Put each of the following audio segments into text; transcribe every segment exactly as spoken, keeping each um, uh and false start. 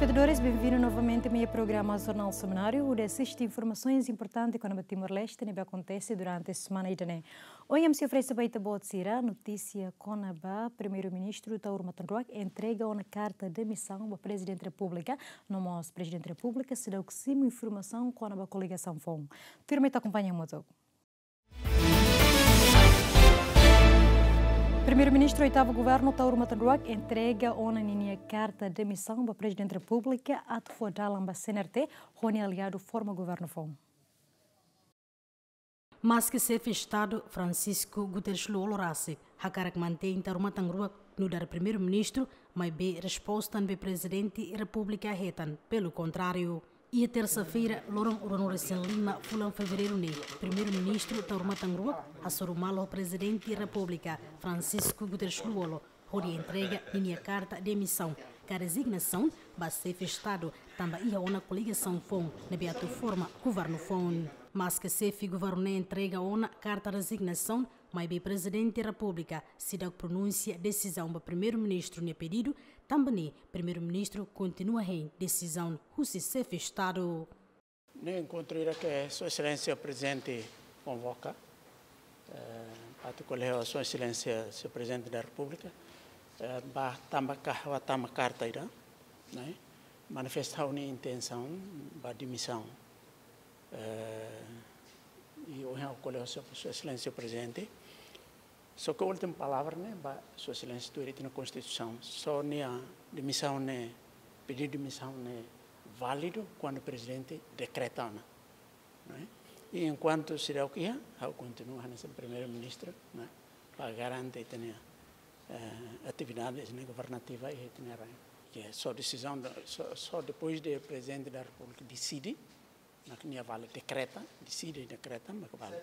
Espetadores, benvindu novamente mai programa Jornál Semanáriu, hodi asiste informasoens importante kona-ba Timor-Leste ne'ebé akontese durante semana ida-ne'e. Ohin ami sei oferese ba ita-boot sira notísia kona-ba Primeiru-Ministru Taur Matan Ruak entrega ona karta demisaun ba Prezidente Repúblika, no mós Prezidente Repúblika seidauk simu informasaun kona-ba koligasaun foun. Tuirmai ita akompaña hamutuk. Primeiru-Ministru oitavu Governu Taur Matan Ruak entrega ona ninia karta demisaun ba Prezidente Repúblika atu fó dalan ba C N R T ho nia aliadu forma governu foun. Maske Xefe Estadu Francisco Guterres Lú-Olo rasik hakarak mantein Taur Matan Ruak nu'udar Primeiru-Ministru, maibé resposta ne'ebé Prezidente Repúblika hetan, pelu kontráriu. Iha tersa-feira, loron ruanulu-resin-lima fulan Fevereiru ne'e, Primeiru-Ministru Taur Matan Ruak hasoru malu ho Prezidente Repúblika Francisco Guterres Lú-Olo hodi entrega ninia karta demisaun ka rezignasaun ba Xefe Estadu, tanba iha ona koligasaun foun ne'ebé atu forma governu foun. Maske Xefe Governu ne'e entrega ona karta rezignasaun, maibé Prezidente Repúblika seidauk pronunsia desizaun ba Primeiru-Ministru nia pedidu, tanba ne'e Primeiru-Ministru kontinua hein desizaun husi Xefe Estadu. Ne'e enkontru ida ke Sua Exelénsia Prezidente konvoka, eh, atu ko'alia ho Sua Exelénsia, Señór Prezidente da Repúblika, eh, ba tama ka, ba tama karta ida, ne'e, manifesta ha'u-nia intensaun ba demisaun. Eh, i ohin ha'u ko'alia ho Sua, Sua Exelénsia Prezidente. Só ke última palavra ne'e ba Sua Exelénsia tuir ita-nia Konstituisaun. Só nia demisaun ne'e, pedidu demisaun ne'e válidu kuandu Prezidente dekreta ona, ne'e? I enkuantu seidauk iha, ha'u kontinua hanesan Primeiru-Ministru, ne'e? Para garante ita-nia, eh, atividades, ne'e, governativa iha ita-nia rain. Ke só desizaun, só, só depois de Prezidente da Repúblika deside, mak nia vale, dekreta, deside, dekreta, mak vale.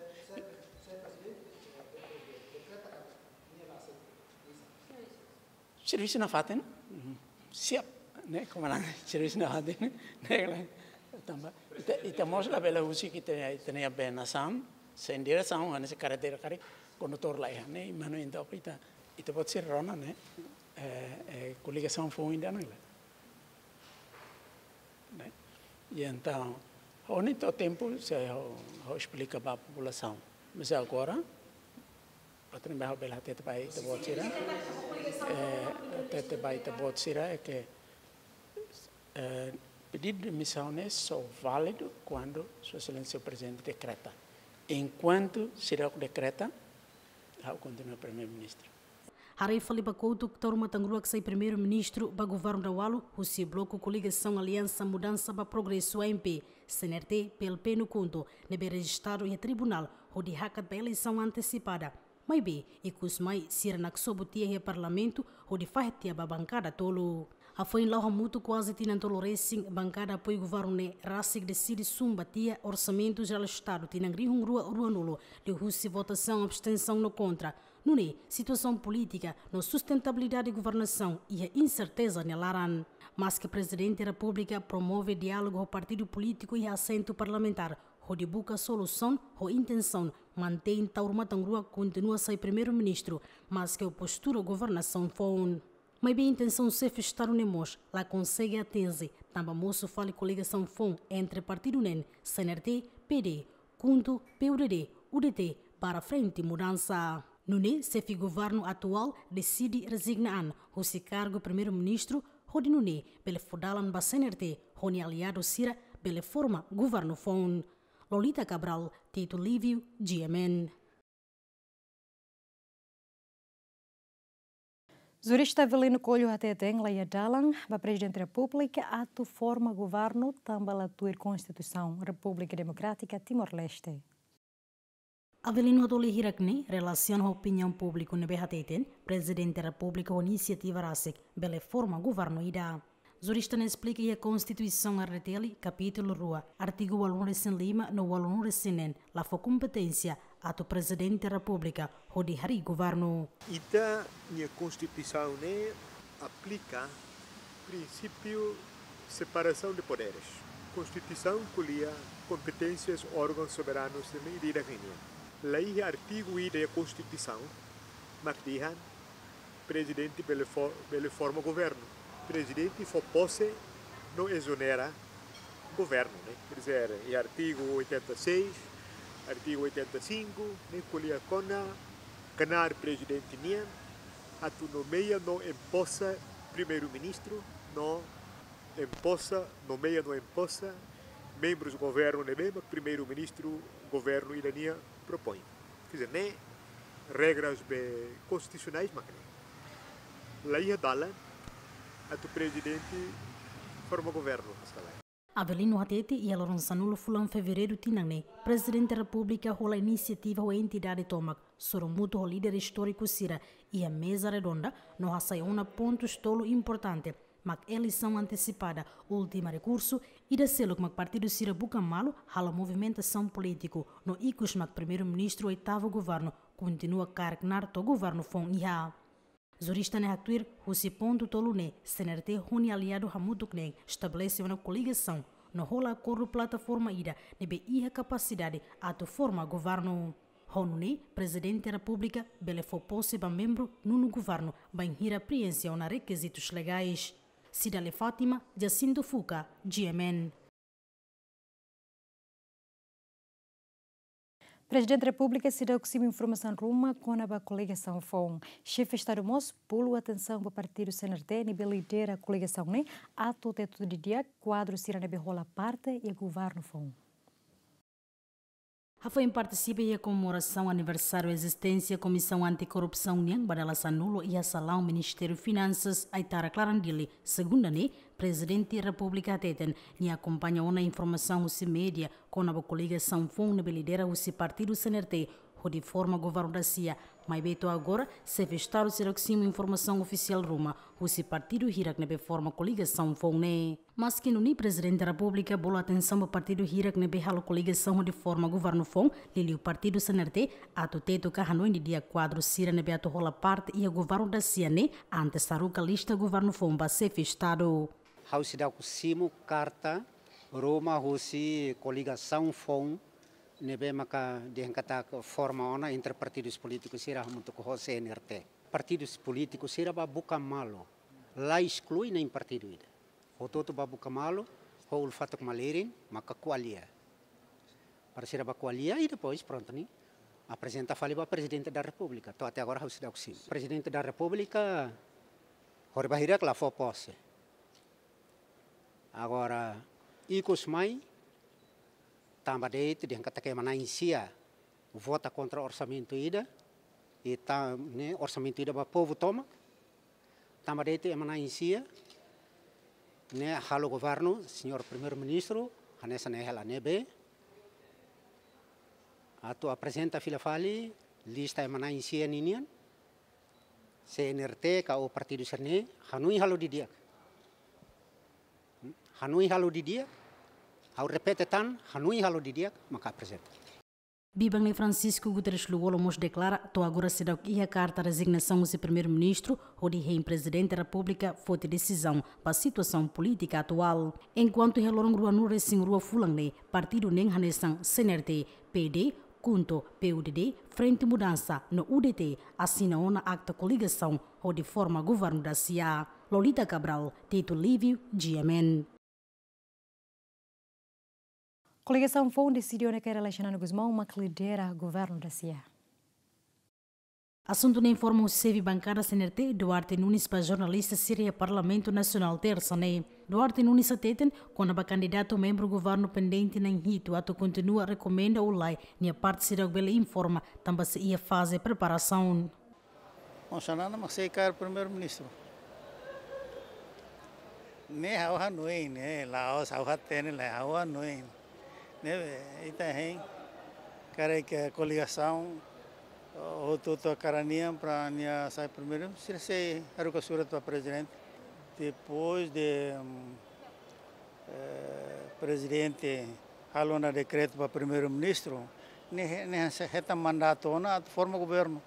Servisu nafatin, mhm, siap, ne'e, komandante, servisu nafatin, ne'e, tanba ita, ita mós labele husik ita, ita-nia bee nasaun sein diresaun, hanesan karretera karik kondutór la iha, ne'e, mano, entaun ita, ita-boot sira rona, ne'e, eh, eh, koligasaun foun ida, ne'e, ne'e? I entaun, ha'u-nia tempu sei ha'u, ha'u esplika ba populasaun. Mas agora, atu ne'ebé ha'u bele hatete ba ita-boot sira, eh, hatete ba ita-boot sira é ke, eh, pedidu demisaun ne'e só válidu kuandu Sua Exelénsia Prezidente dekreta. Enkuantu seidauk dekreta, ha'u kontinua Primeiru-Ministru. Haree fali ba kotuk, Taur Matan Ruak sai Primeiru-Ministru ba governu daudaun husi bloku koligasaun Aliansa Mudansa ba Progresu, A M P, C N R T, P L P no KHUNTO, ne'ebé rejistadu iha tribunál hodi hakat ba eleisaun antesipada. Maibé, ikus mai sira naksobu tiha iha Parlamentu hodi fahe tiha ba bankada tolu. Hafoin la'o hamutuk kuaze tinan tolu resin, bankada apoiu governu ne'e rasik deside sun ba tiha Orsamentu Jerál Estadu tinan rihun rua ruanulu, liuhusi votasaun abstensaun no kontra. Nune'e, situasaun polítika no sustentabilidade governasaun iha inserteza nia laran. Maske Prezidente Repúblika promove diálogu ho partidu polítiku iha asentu parlamentár hodi buka solusaun ho intensaun mantein Taur Matan Ruak kontinua sai Primeiru-Ministru, maske ho postura governasaun foun. Maibé intensaun Xefe Estadu ne'e mós la konsege atinje, tanba mosu fali koligasaun foun entre partidu neen, C N R T, P D, KHUNTO, P U D D, U D T, barra Frente Mudansa. Nune'e, Xefe Governu atuál deside rezigna an husi kargu Primeiru-Ministru, hodi nune'e bele fó dalan ba C N R T ho nia aliadu sira bele forma governu foun. Lolita Cabral, Tito Lívio, G M N. Jurista Avelino Coelho hateten la iha dalan ba Prezidente Repúblika atu forma governu tanba la tuir Konstituisaun Repúblika Demokrátika Timor-Leste. Avelino hato'o hirak ne'e relasiona ho opiniaun públiku ne'ebé hateten Prezidente Repúblika ho inisiativa rasik bele forma governu ida. Jurista ne'e esplika iha Konstituisaun R D T L, kapítulu rua, artigu ualunulu-resin-lima no ualunulu-resin-neen, la fó kompeténsia atu Prezidente Repúblika hodi harii governu. Ita-nia Konstituisaun ne'e aplika prinsípiu separasaun de poderes. Konstituisaun ko'alia kompeténsias órgaun soberanu sira-ne'e ida-idak nian. La iha artigu ida iha Konstituisaun mak dehan Prezidente bele fo-, bele forma governu. Prezidente fó pose Não exonera governo, né? Quer dizer, em artigo oitenta e seis, artigo oitenta e cinco, né, ko'alia kona-ba knaar prezidente nian atu nomeia no empossa primeiru-ministru, no empossa, nomeia no empossa membrus governu ne'ebé mak primeiru-ministru governu ida-ne'e propoin. Quer dizer, ne'e regras be konstitusionais mak ne'e. La iha dalan atu prezidente forma governu, mas ka lae. Avelino hatete iha loron sanulu fulan Fevereiru tinan ne'e, Prezidente Repúblika hola inisiativa ho entidade tomak, sorumutu ho líder istóriku sira, iha meza redonda, no hasai ona pontus tolu importante, mak eleisaun antesipada, últimu rekursu, ida seluk mak partidu sira buka malu halo movimentasaun polítiku, no ikus mak primeiru-ministru oitavu governu kontinua kaer knaar to'o governu foun iha. Jurista ne'e haktuir, husi pontu tolu ne'e, C N R T ho nia aliadu hamutuk ne'e estabelese ona koligasaun, no hola akordu plataforma ida ne'ebé iha kapasidade atu forma governu. Ho nune'e, Prezidente Repúblika bele fó pose ba membru nonu governu bainhira prienxe ona rekizitus legais. Cidália Fátima, Jacinto Fuca, G M N. Prezidente Repúblika seidauk simu informasaun ruma kona-ba koligasaun foun. Xefe Estadu mós bolu atensaun ba partidu C N R T ne'ebé lidera koligasaun ne'e atu tetu didi'ak kuadru sira ne'ebé hola parte iha governu foun. Hafoin partisipa iha komemorasaun aniversáriu ezisténsia Komisaun Anti-Korrupsaun nian ba dala sanulu iha salaun Ministériu Finansas, Aitarak, laran Dili, segunda ne'e, Prezidente Repúblika hateten nia akompaña ona informasaun husi média kona-ba koligasaun foun ne'ebé lidera husi partidu C N R T hodi forma governu dasia, maibé to'o agora, Xefe Estadu seidauk simu informasaun ofisiál ruma husi partidu hirak ne'ebé forma koligasaun foun ne'e. Maski nune'e, Prezidente Repúblika bolu atensaun ba partidu hirak ne'ebé halo koligasaun hodi forma governu foun, liuliu partidu C N R T, atu tetu ka hanoin didi'ak kuadru sira ne'ebé atu hola parte iha governu dasia ne'e, antes haruka lista governu foun ba Xefe Estadu. Ha'u seidauk simu karta ruma husi koligasaun foun ne'ebé maka dehan katak forma ona entre partidus polítikus sira hamutuk ho C N R T. Partidus polítikus sira bá buka malu, la esklui nein partidu ida. Hotu-hotu bá buka malu, ho uluk fatuk malirin, maka ko'alia. Para sira bá ko'alia, i depois, prontu, ne'e aprezenta fali ba Prezidente da Repúblika. To'o até agora, ha'u seidauk simu. Prezidente da Repúblika, horibainhira la fó pose. Agora, ikus mai, tanba de'it, dehan katak ema na'in-sia vota kontra orsamentu ida, i ta, ne'e, orsamentu ida ba povu tomak, tanba de'it ema na'in-sia, ne'e, halo governu, Señór Primeiru-Ministru, hanesan ne'e hela ne'ebé, atu aprezenta fila fali, lista ema na'in-sia ninian, C N R T ka ou partidu sira-ne'e, hanoin halo didi'ak. Hanoin halo didi'ak, ha'u repete tan, hanoin halo didi'ak, maka aprezenta. Biban ne'e Francisco Guterres Lú-Olo mós deklara, to'o agora seidauk iha karta rezignasaun husi Primeiru-Ministru, hodi hein Prezidente Repúblika foti desizaun ba situasaun polítika atuál. Enkuantu iha loron ruanulu-resin-rua fulan ne'e, partidu neen hanesan C N R T, P D, KHUNTO, P U D D, Frente Mudansa, no U D T, asina ona akta koligasaun, hodi forma governu dasia. Lolita Cabral, Tito Lívio, G M N. Koligasaun foun deside ona kaer Alexandre Gusmão mak lidera governu dasia. Asuntu ne'e informa husi xefe bankada C N R T, Duarte Nunes, ba jornalista sira iha Parlamentu Nasionál, tersa ne'e. Duarte Nunes hateten, kona-ba kandidatu membru governu pendente na'in hitu atu kontinua rekomenda ou lae, nia parte seidauk bele informa, tanba sei iha faze preparasaun. Bom, Xanana mak sei kaer Primeiru-Ministru. Ne'e ha'u hanoin, ne'e, la'ós ha'u hatene, lae, ha'u hanoin. Ne'ebé, ita hein, karik koligasaun, hotu-hotu hakarak nian para nia sai primeiru, sira sei haruka surat ba Prezidente. Depois de, hum, eh, Prezidente halo ona dekretu ba Primeiru-Ministru, ne'e, ne'e sei hetan mandatu ona atu forma governu.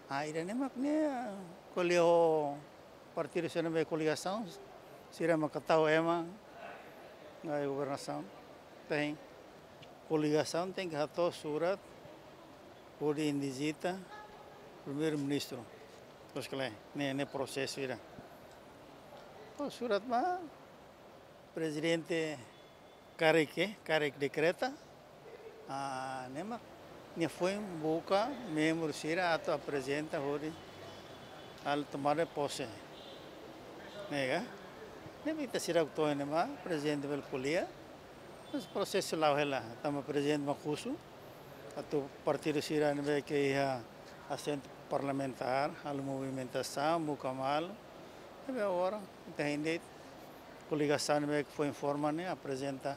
Ah, ida-ne'e mak ne'e, ko'alia ho partidu sira ne'ebé koligasaun, sira mak tau ema, ngai governasaun, tem. Koligasaun tenke hato'o surat, hodi indizita Primeiru-Ministru. Terus kele, ne'e, ne'e prosesu ida. To'o surat ba, Prezidente karik, karik dekreta, ah, ne'e mak nia foin buka membru sira atu aprezenta hodi halo tomada de pose. Ne'e ka? Ne'e mak ita sira atu ne'e mak prezidente bele ko'alia. Mas prosesu la'o hela, tanba prezidente mak husu atu partidu sira ne'ebé ke iha asentu parlamentár halo movimentasaun, buka malu. Ne'ebé agora ita hein de'it koligasaun ne'ebé ke foin forma ne'e aprezenta.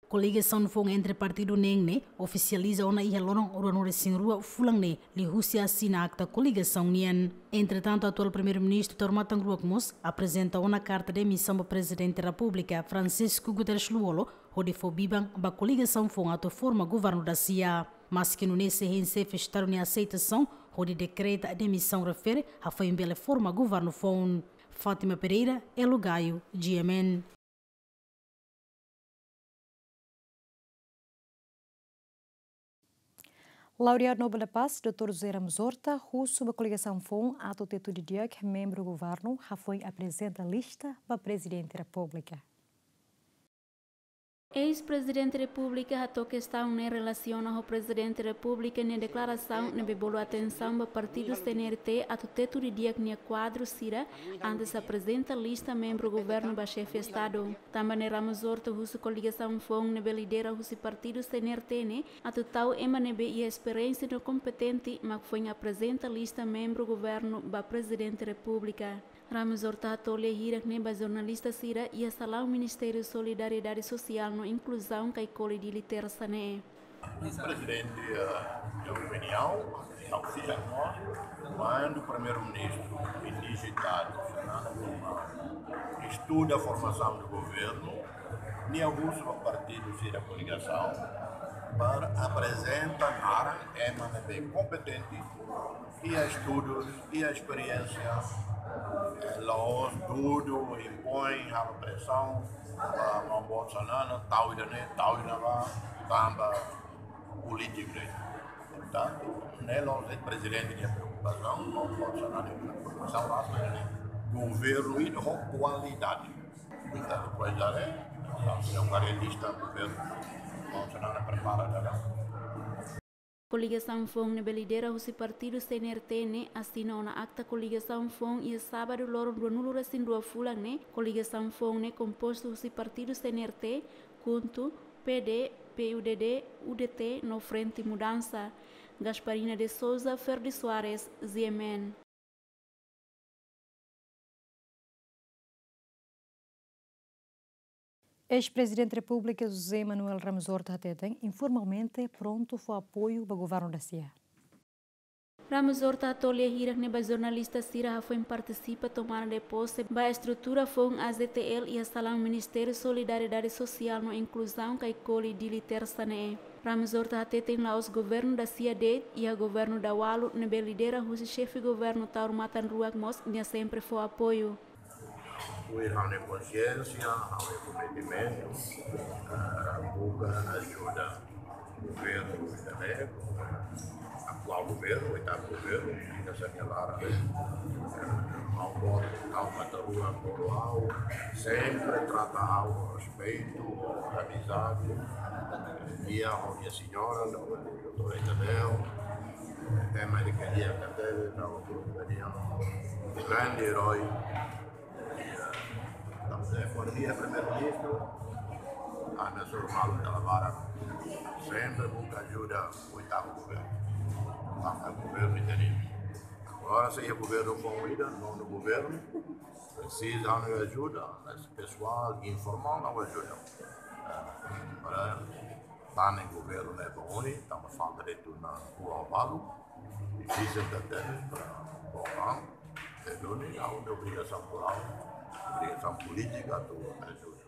Koligasaun foun entre partidu neen ne'e ofisializa ona iha loron ruanulu-resin-rua fulan ne'e liuhusi asina akta koligasaun nian. Entretantu, atuál Primeiru-Ministru Taur Matan Ruak mós aprezenta ona karta demisaun ba Prezidente Repúblika, Francisco Guterres Lú-Olo, hodi fó biban ba koligasaun foun atu forma governu dasia. Maski nune'e sei hein xefe Estadu nia aseitasaun hodi dekreta demisaun refere hafoin bele forma governu foun. Fátima Pereira, Elo Gaio, G M N. Laureadu Nobel da Paz, doutór José Ramos Horta, husu ba koligasaun foun atu tetu didi'ak membru governu hafoin aprezenta lista ba Prezidente Repúblika. Eis-Prezidente Repúblika hato'o kestaun ne'e relasiona ho Prezidente Repúblika nia deklarasaun ne'ebé bolu atensaun ba partidu C N R T atu tetu didi'ak nia kuadru sira antes aprezenta lista membru governu ba xefe Estadu. Tanba ne'e Ramos Horta husu koligasaun foun ne'ebé lidera husi partidu C N R T ne'e atu tau ema ne'ebé iha esperiénsia no kompetente mak foin aprezenta lista membru governu ba Prezidente Repúblika. Ramos Horta hato'o lia hirak ne'e ba jornalista sira iha salaun Ministériu Solidariedade Sosiál no Inkluzaun Caicoli Dili, tersa ne'e. Prezidente, eh, nia opiniaun, nia opiniaun, kuandu Primeiru-Ministru indigitadu, Fernando Gomar, estuda formasaun do governu, nia husu ba partidu sira koligasaun para aprezenta naran ema ne'ebé kompetente, iha estudus, iha esperiénsia, eh, la'ós dudu, impoin, halo presaun ba maun boot Xanana, tau ida-ne'e, tau ida-ne'ebá, tanba polítiku de'it. Portantu, ne'e la'ós de'it prezidente nia preokupasaun, maun boot Xanana nia preokupasaun, mas ne'e governu ida ho kualidade. Portantu, pois, dale, entaun, se é um garantista, governu, maun Xanana prepara, dale. Koligasaun foun ne'ebé lidera husi partidu C N R T ne'e asina ona akta koligasaun foun iha sábadu loron ruanulu-resin-rua fulan ne'e. Koligasaun foun ne'e kompostu husi partidu C N R T, KHUNTO, P D, P U D D, U D T no Frente Mudansa. Gasparina de Souza, Ferdi Soares, G M N. Eis-Prezidente Repúblika José Manuel Ramos Horta hateten informalmente prontu fó apoiu ba governu dasia. Ramos Horta hato'o lia hirak ne'e ba jornalista sira hafoin partisipa tomada de pose ba estrutura foun A Z T L iha salaun Ministériu Solidariedade Sosiál no Inkluzaun Caicoli Dili, tersa ne'e. Ramos Horta hateten la'ós governu dasia de'it, iha governu daualu ne'ebé lidera husi xefe governu Taur Matan Ruak mós nia sempre fó apoiu. Tuir ha'u-nia konxiénsia, ha'u-nia kometimentu, eh, buka ajuda governu ida-ne'e, atuál governu, oitavu governu, ida sania lara, eh, maun boot Taur Matan Ruak, maun boot, sempre trata ha'u ho respeitu, ho amizade, nia ho nia señora, doutór Isabel, ema ida ke nia hatene, no grupu ida, grande erói. Entaun, se for dia Primeiru-Ministru, ami suru malu dala barak. Sempre buka ajuda oitavu governu. Tanba governu ita-nia. Agora, se iha governu foun ida, nonu governu, presiza ha'u-nia ajuda, mas pesoál, informál, ha'u ajuda. Eh, para tane governu ne'e ba oin, tanba falta de'it ona rua balu, difisil tebes para bom, eh, duni, ha'u-nia obrigasaun morál, obrigasaun polítika atu ajuda.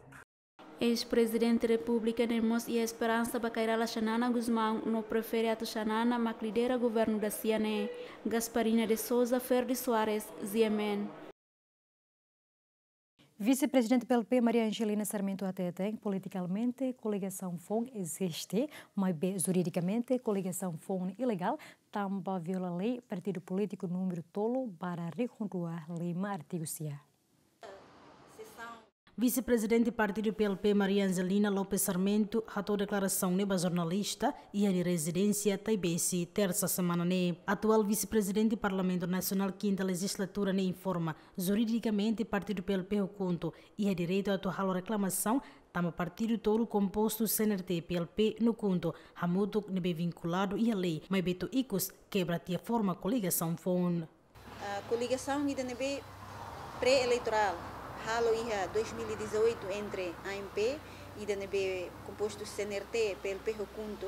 Eis-Prezidente Repúblika ne'e mós iha esperansa ba Kay Rala Xanana Gusmão no prefere atu Xanana mak lidera governu dasia ne'e. Gasparina de Souza, Ferdi Soares, G M N. Vise-Prezidente P L P Maria Angelina Sarmento hateten, politikalmente koligasaun foun eziste, maibé juridikamente koligasaun foun ilegál, tanba viola lei partidu polítiku númeru tolu barra rihun rua lima, artigu sia. Vise-Prezidente Partidu P L P, Maria Angelina Lopes Sarmento, hato'o deklarasaun ne'e ba jornalista iha nia rezidénsia Taibesi, tersa semana ne'e. Atuál Vise-Prezidente Parlamentu Nasionál kinta lejizlatura ne'e informa, juridikamente partidu P L P ho KHUNTO iha direitu atu halo reklamasaun tanba partidu tolu kompostu C N R T, P L P no KHUNTO hamutuk ne'ebé vinkuladu iha lei, maibé to'o ikus kebra tiha forma koligasaun foun. Ah, koligasaun ida ne'ebé pré-eleitorál halo iha dois mil e dezoito entre A M P, ida ne'ebé kompostu C N R T, P L P ho KHUNTO,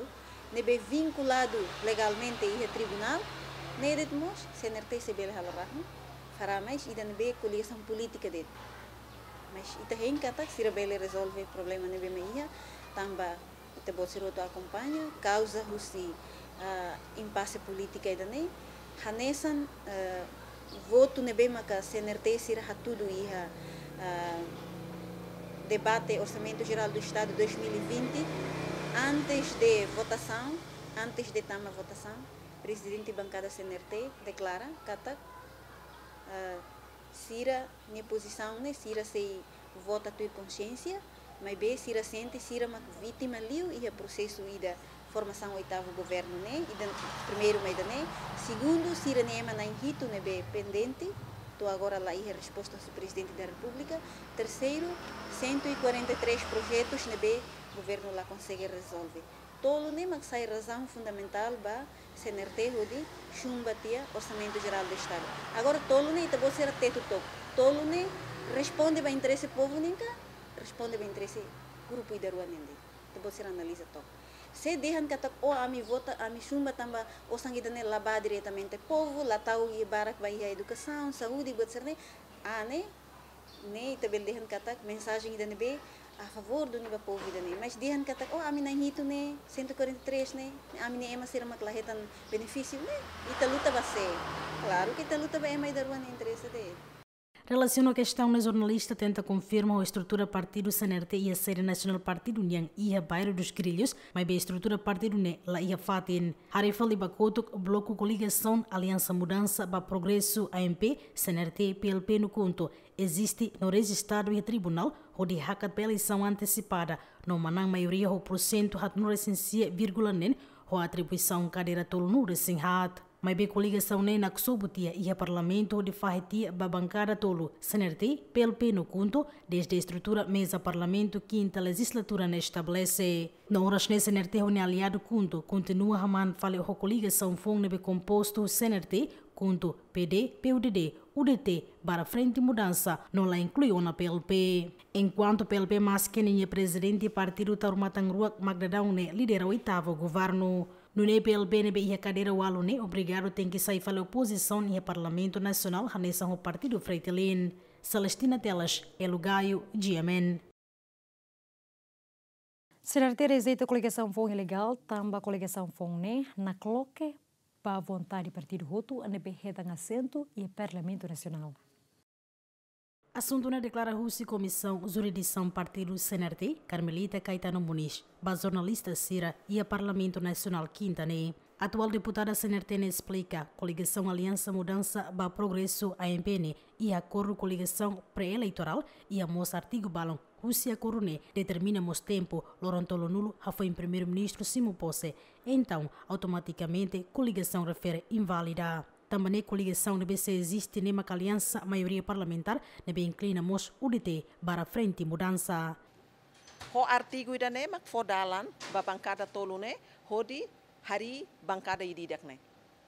ne'ebé vinkuladu legalmente iha tribunál, ne'e de'it mós C N R T sei bele halo rahun, fará mais ida ne'ebé koligasaun polítika de'it. Mas ita hein katak sira bele rezolve problema ne'ebé mak iha, tanba ita-boot sira hotu akompaña, kauza husi, ah, impase polítika ida-ne'e, hanesan, ah, votu ne'ebé maka C N R T sira hatudu iha, ah, debate Orsamentu Jerál do Estadu dois mil e vinte, antes de votasaun, antes de tama votasaun, Prezidente Bankada C N R T deklara katak, ah, sira-nia pozisaun ne'e, sira sei vota tuir konxiénsia, maibé sira sente sira mak vítima liu iha prosesu ida formasaun oitavu governu ne'e, ida primeiru mak ida-ne'e, segundu, sira-nia ema na'in hitu ne'ebé pendente, to'o agora la iha resposta husi Prezidente da Repúblika, terseiru, cento e quarenta e três projetus ne'ebé governu la konsege rezolve. Tolu ne'e mak sai razaun fundamentál ba C N R T hodi chumba tiha Orsamentu Jerál do Estadu. Agora tolu ne'e ita-boot sira tetu took. Tolu ne'e responde ba interese povu nian ka responde ba interese grupu ida rua nian de'it. Ita-boot sira analiza took. Se dehan katak, "Oh, ami vota, ami chumba tanba osan ida-ne'e la bá diretamente povu, la tau iha barak ba iha edukasaun, saúde, buat sira-ne'e." Ah, ne'e ne'e ita bele dehan katak mensajen ida ne'ebé a favór duni ba povu ida-ne'e. Mas dehan katak, "Oh, ami na'in hitu ne'e, cento e quarenta e três ne'e, ami-nia ema sira mak la hetan benefísiu ne'e, ita luta ba sé?" Klaru ke ita luta ba ema ida rua nia interese de'it. Relasiona ho kestaun ne'e, jornalista tenta konfirma ho estrutura partidu C N R T iha sede nasionál partidu nian iha Bairro dos Grilhos, maibé estrutura partidu ne'e la iha fatin. Haree fali ba kotuk, bloku koligasaun Aliansa Mudansa ba Progresu, A M P, C N R T, P L P no KHUNTO eziste no rejistadu iha tribunál hodi hakat ba eleisaun antesipada, no manán maioria ho porsentu haatnulu-resin-sia vírgula neen, ho atribuisaun kadeira tolunulu-resin-haat. Maibé koligasaun ne'e naksobu tiha iha Parlamentu hodi fahe tiha ba bankada tolu, C N R T, P L P no KHUNTO, dezde estrutura meza Parlamentu kinta lejizlatura ne'e estabelese. No oras ne'e C N R T ho nia aliadu KHUNTO kontinua hamaan fali ho koligasaun foun ne'ebé kompostu C N R T, KHUNTO, P D, P U D D, U D T, barra Frente Mudansa, no la inklui ona P L P. Enkuantu P L P maski ninia prezidente partidu Taur Matan Ruak mak daudaun ne'e lidera oitavu governu. Nune'e P L P ne'ebé iha kadeira ualu ne'e obrigadu tenke sai fali opozisaun iha Parlamentu Nasionál hanesan ho partidu Fretilin. Celestina Teles, Elo Gaio, G M N. C N R T rejeita koligasaun foun ilegál, tanba koligasaun foun ne'e nakloke ba vontade partidu hotu ne'ebé hetan asentu iha Parlamentu Nasionál. Asuntu ne'e deklara husi Komisaun Jurisdisaun Partidu C N R T, Carmelita Caetano Muniz, ba jornalista sira iha Parlamentu Nasionál kinta ne'e. Atuál deputada C N R T ne'e esplika, koligasaun Aliansa Mudansa ba Progresu, A M P, ne'e iha akordu koligasaun pré-eleitorál, iha mós artigu balun husi akordu ne'e determina mós tempu loron tolunulu hafoin Primeiru-Ministru simu pose, entaun automatikamente koligasaun refere inválida. Tanba ne'e koligasaun ne'ebé sei eziste ne'e maka aliansa maioria parlamentár ne'ebé inklui mós U D T barra Frente Mudansa. Ho artigu ida-ne'e mak fó dalan ba bankada tolu ne'e hodi harii bankada ida-idak ne'e.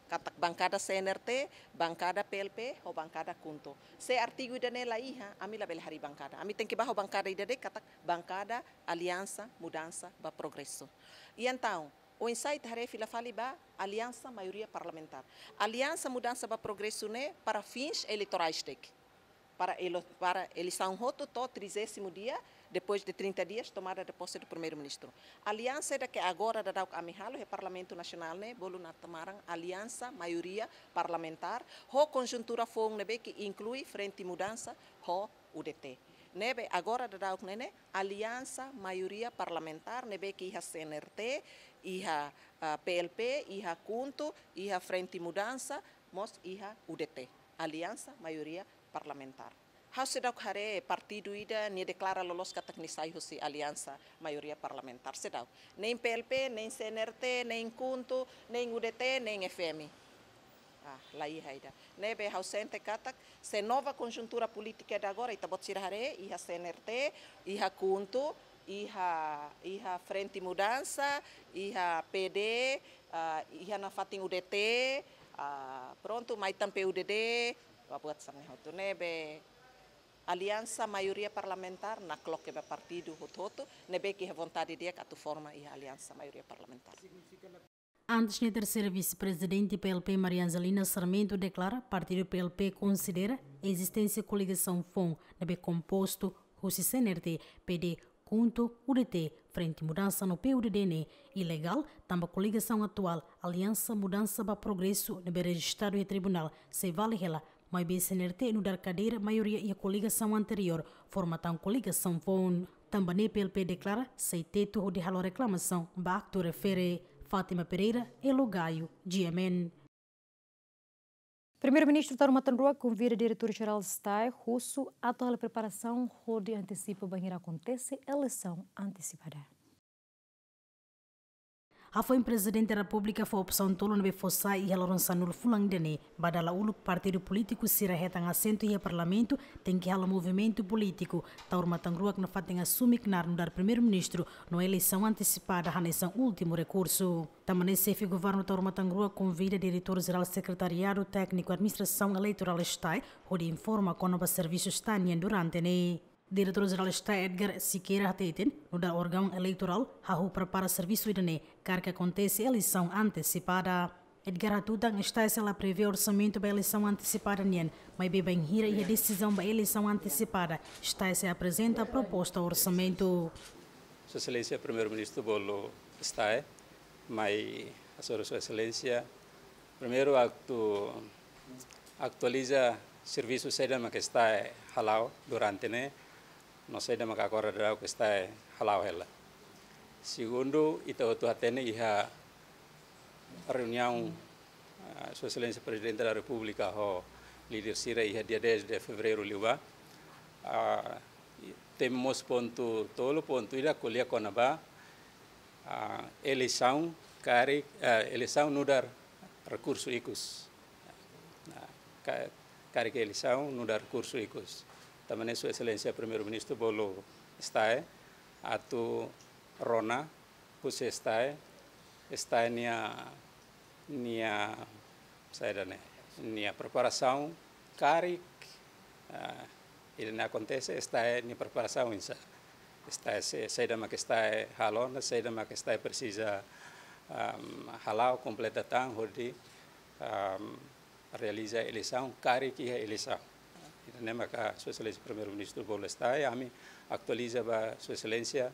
Katak bankada C N R T, bankada P L P, ho bankada KHUNTO. Se artigu ida-ne'e la iha, ami labele harii bankada. Ami tenke bá ho bankada ida de'it katak bankada Aliansa Mudansa ba Progresu. I entaun, oinsá ita haree fila fali ba Aliansa Maioria Parlamentár. Aliansa Mudansa ba Progresu ne'e para fins eleitorais de'it. Para elo-, para eleisaun hotu to'o trigésimo dia, depois de trinta dias, tomada de posse do Primeiru-Ministru. Aliansa ida ke agora daudaun ami halo iha Parlamentu Nasionál ne'e, bolu naran Aliansa Maioria Parlamentár, ho konjuntura foun ne'ebé ke inklui Frente Mudansa, ho U D T. Ne'ebé agora daudaun ne'e ne'e Aliansa Maioria Parlamentár ne'ebé ke iha C N R T, iha, ah, P L P, iha KHUNTO, iha Frente Mudansa, mós iha U D T. Aliansa Maioria Parlamentár. Ha'u seidauk haree partidu ida nia deklara loloos katak nia sai husi aliansa maioria parlamentár, seidauk. Nein P L P, nein C N R T, nein KHUNTO, nein U D T, nein F M. Ah, la iha ida. Ne'ebé ha'u sente katak, se nova konjuntura polítika de agora, ita-boot sira haree, iha C N R T, iha KHUNTO, iha, iha Frente Mudansa, iha P D, ah, iha nafatin U D T, ah, prontu, mai tan P U D D, ba buat sira-ne'e hotu. Ne'ebé aliansa maioria parlamentár nakloke ba partidu hotu-hotu, ne'ebé ke iha vontade di'ak atu forma iha aliansa maioria parlamentár. Antes ne'e, terseira vise-prezidente P L P, Maria Angelina Sarmento, deklara partidu P L P konsidera ezisténsia koligasaun foun ne'ebé kompostu husi C N R T, P D, KHUNTO, U D T, Frente Mudansa no P U D D ne'e ilegál, tanba koligasaun atuál, Aliansa Mudansa ba Progresu, ne'ebé rejistadu iha tribunál, sei vale hela, maibé C N R T nu'udar kadeira maioria iha koligasaun anteriór, forma tan koligasaun foun. Tanba ne'e P L P deklara sei tetu hodi halo reklamasaun ba aktu refere. Fátima Pereira, Elo Gaio, G M N. Primeiru-Ministru Taur Matan Ruak konvida Diretór Jerál STAE husu atu halo preparasaun hodi antesipa bainhira akontese eleisaun antesipada. Hafoin Prezidente Repúblika fó opsaun tolu ne'ebé fó sai iha loron sanulu fulan ida-ne'e, ba dala uluk partidu polítiku sira hetan asentu iha Parlamentu tenke halo movimentu polítiku, Taur Matan Ruak nafatin asume knaar nu'udar Primeiru-Ministru no eleisaun antesipada hanesan últimu rekursu. Tanba ne'e Xefe Governu Taur Matan Ruak konvida Diretór Jerál Sekretariadu Tékniku Administrasaun Eleitorál STAE hodi informa kona-ba servisu STAE nian durante ne'e. Diretór Jerál STAE Edgar Sequeira hateten, nu'udar órgaun eleitorál, hahú prepara servisu ida-ne'e karik akontese eleisaun antesipada. Edgar hatutan STAE sei la prevee orsamentu ba eleisaun antesipada nian, maibé bainhira iha desizaun ba eleisaun antesipada, STAE sei aprezenta proposta orsamentu. Sua Exelénsia Primeiru-Ministru bolu STAE, mai hasoru Sua Exelénsia, primeiru atu atualiza servisu saida mak STAE hala'o durante ne'e, no saida mak agora daudaun STAE hala'o hela. Segundu, ita hotu hatene iha reuniaun, ah, Sua Exelénsia Prezidente da Repúblika ho líder sira iha dia dez de fevereiru liubá. Ah, temi mós pontu tolu, pontu ida ko'alia kona-ba, ah, eleisaun karik, ah, eleisaun nu'udar rekursu ikus. Nah, ka-, karik eleisaun nu'udar rekursu ikus. Tanba ne'e Sua Exelénsia Primeiru-Ministru bolu STAE atu rona husi STAE, STAE nia, nia, saida ne'e, nia preparasaun karik, ah, ida-ne'e akontese, STAE nia preparasaun oinsá. STAE se-, saida mak STAE halo ona, saida mak STAE presiza, am, hala'o, kompleta tan hodi, am, realiza eleisaun, karik iha eleisaun. Ida-ne'e maka Sua Exelénsia Primeiru-Ministru bolu STAE, ami atualiza ba Sua Exelénsia,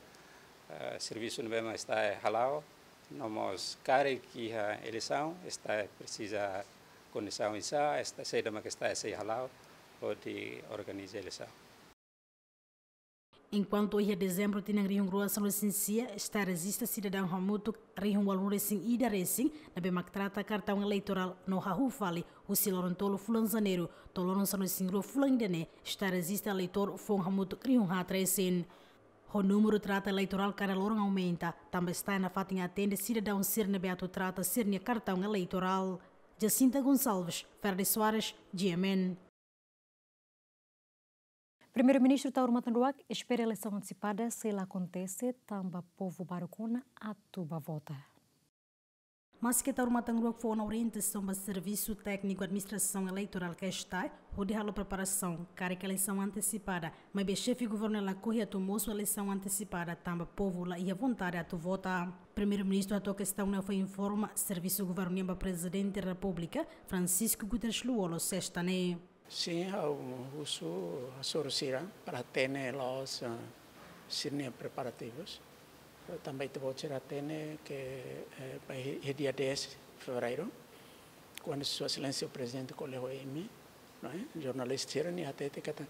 eh, servisu ne'ebé mak STAE hala'o, no mós karik iha eleisaun, STAE presiza kondisaun oinsá, STAE saida mak STAE sei hala'o hodi organiza eleisaun. Enkuantu iha dezembru tinan rihun rua sanulu-resin-sia, STAE rejista sidadaun hamutuk rihun ualunulu-resin-ida resin, ne'ebé mak trata kartaun eleitorál no hahú fali, husi loron tolu fulan Janeiru to'o loron sanulu-resin-rua fulan ida-ne'e, STAE rejista eleitór foun hamutuk rihun haat resin. Ho númeru trata eleitorál kada loron aumenta, tanba STAE nafatin atende sidadaun sira ne'ebé atu trata sira-nia kartaun eleitorál. Jacinta Gonçalves, Ferdis Soares, G M N. Primeiru-Ministru Taur Matan Ruak espera eleisaun antesipada sei la akontese, tanba povu baruk ona atu ba vota. Maske Taur Matan Ruak fó ona orientasaun ba Servisu Tékniku Administrasaun Eleitorál ka STAE hodi halo preparasaun karik eleisaun antesipada, maibé Xefe Governu lakohi atu mosu eleisaun antesipada tanba povu la iha vontade atu vota. Primeiru-Ministru hato'o kestaun ne'e fó informa Servisu Governu nian ba Prezidente Repúblika, Francisco Guterres Lú-Olo, sesta ne'e. Sin, ha'u husu hasoru sira para hatene loos, eh, sira-nia preparativus. Eh, tanba ita-boot sira hatene ke, eh, ba iha, iha dia dez fevereiru, kuandu Sua Exelénsia Prezidente ko'alia ho imi, não é? Jornalista sira-nia hatete katak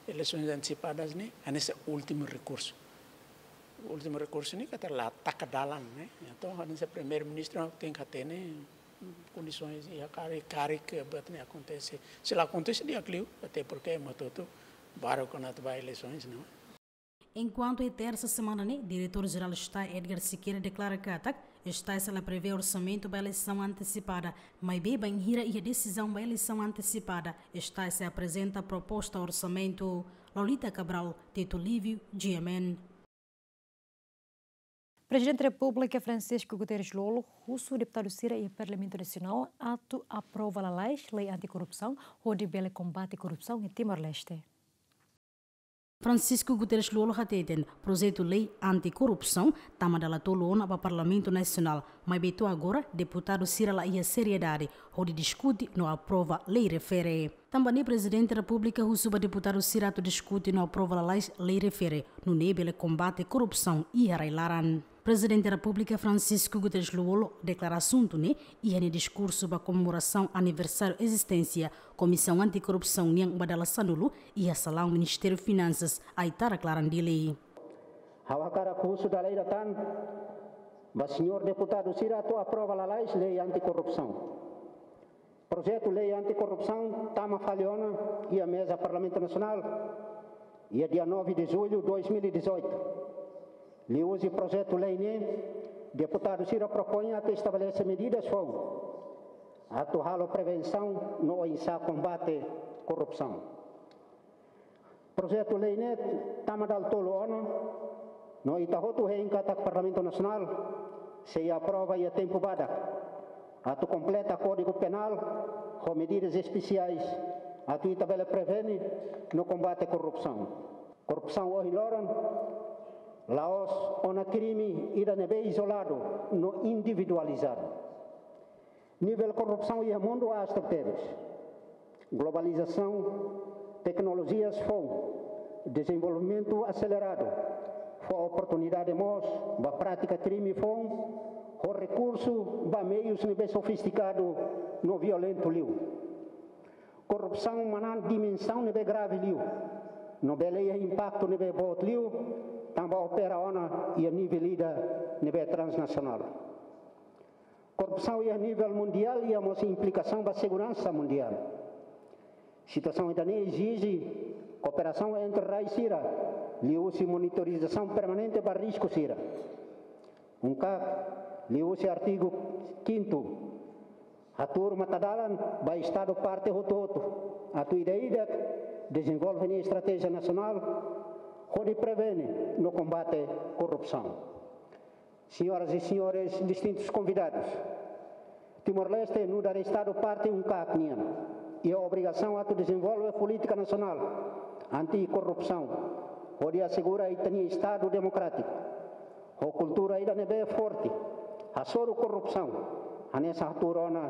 eleisaun antesipadas ne'e hanesan últimu rekursu. Últimu rekursu ne'e katak la taka dalan, né? Entaun, hanesan Primeiru-Ministru tenke hatene kondisaun iha karik, karik buat ne'e akontese. Se la akontese di'ak liu, até porque ema hotu-hotu Baru kona atu ba eleisoens, não? Enkuantu iha tersa semana ne'e, Diretór Jerál STAE Edgar Sequeira deklara katak STAE sei la prevee orsamentu ba eleisaun antesipada, maibé bainhira iha desizaun ba eleisaun antesipada, STAE sei aprezenta proposta orsamentu. Lolita Cabral, Tito Livio, G M N. Prezidente Repúblika Francisco Guterres Lú-Olo husu deputadu sira iha Parlamentu Nasionál atu aprova lalais lei anti-korrupsaun, hodi bele kombate korrupsaun iha Timor-Leste. Francisco Guterres Lú-Olo hateten, projetu lei anti-korrupsaun tama dala tolu ona ba Parlamentu Nasionál, maibé to'o agora deputadu sira la iha seriedade hodi diskute no aprova lei refere. Tanba ne'e Prezidente Repúblika husu ba deputadu sira atu diskute no aprova lalais lei refere, nune'e bele kombate korrupsaun iha rai-laran. Prezidente Repúblika Francisco Guterres Lú-Olo deklara asuntu ne'e iha nia diskursu ba komemorasaun aniversáriu ezisténsia Komisaun Anti-Korrupsaun nian ba dala sanulu iha salaun Ministériu Finansas, Aitarak-Laran, Dili. Ha'u hakarak husu dala ida tan ba señór deputadu sira atu aprova lalais lei anti-korrupsaun. Projetu lei anti-korrupsaun tama fali ona iha meza Parlamentu Nasionál iha dia nove de julho dois mil e dezoito. Liuhusi projetu lei ne'e, deputadu sira propoin atu estabelese medidas foun atu halo prevensaun no oinsá kombate korrupsaun. Projetu lei ne'e tama dala tolu ona, no ita hotu hein katak Parlamentu Nasionál sei aprova iha tempu badak atu kompleta Kódigu Penál ho medidas espesiais atu ita bele prevene no kombate korrupsaun. Korrupsaun ohin loron la'ós ona krime ida ne'ebé izoladu no individualizadu. Nivel korrupsaun iha mundu aas tebes. Globalizasaun, teknolojias foun, dezenvolvimentu aseleradu fó oportunidade mós ba prátika krime foun, ho rekursu ba meius ne'ebé sofistikadu no violentu liu. Korrupsaun manán dimensaun ne'ebé grave liu, no bele iha impaktu ne'ebé boot liu, tanba opera ona iha nivel ida ne'ebé transnasionál. Korrupsaun iha nivel mundiál iha mós implikasaun ba seguransa mundiál. Situasaun ida-ne'e ezije kooperasaun entre rai sira, liuhusi monitorizasaun permanente ba risku sira. UNCAC, liuhusi artigu kintu, hatuur matadalan ba Estadu parte hotu-hotu atu ida-idak dezenvolve nia estratéjia nasionál hodi prevene no kombate korrupsaun. Senhoras e senhores distintos convidados, Timor-Leste nu'udar Estadu parte UNCAC nian iha obrigasaun atu dezenvolve polítika nasionál anti-korrupsaun, hodi asegura ita-nia Estadu demokrátiku ho kultura ida ne'ebé forte hasoru korrupsaun, hanesan hatuur ona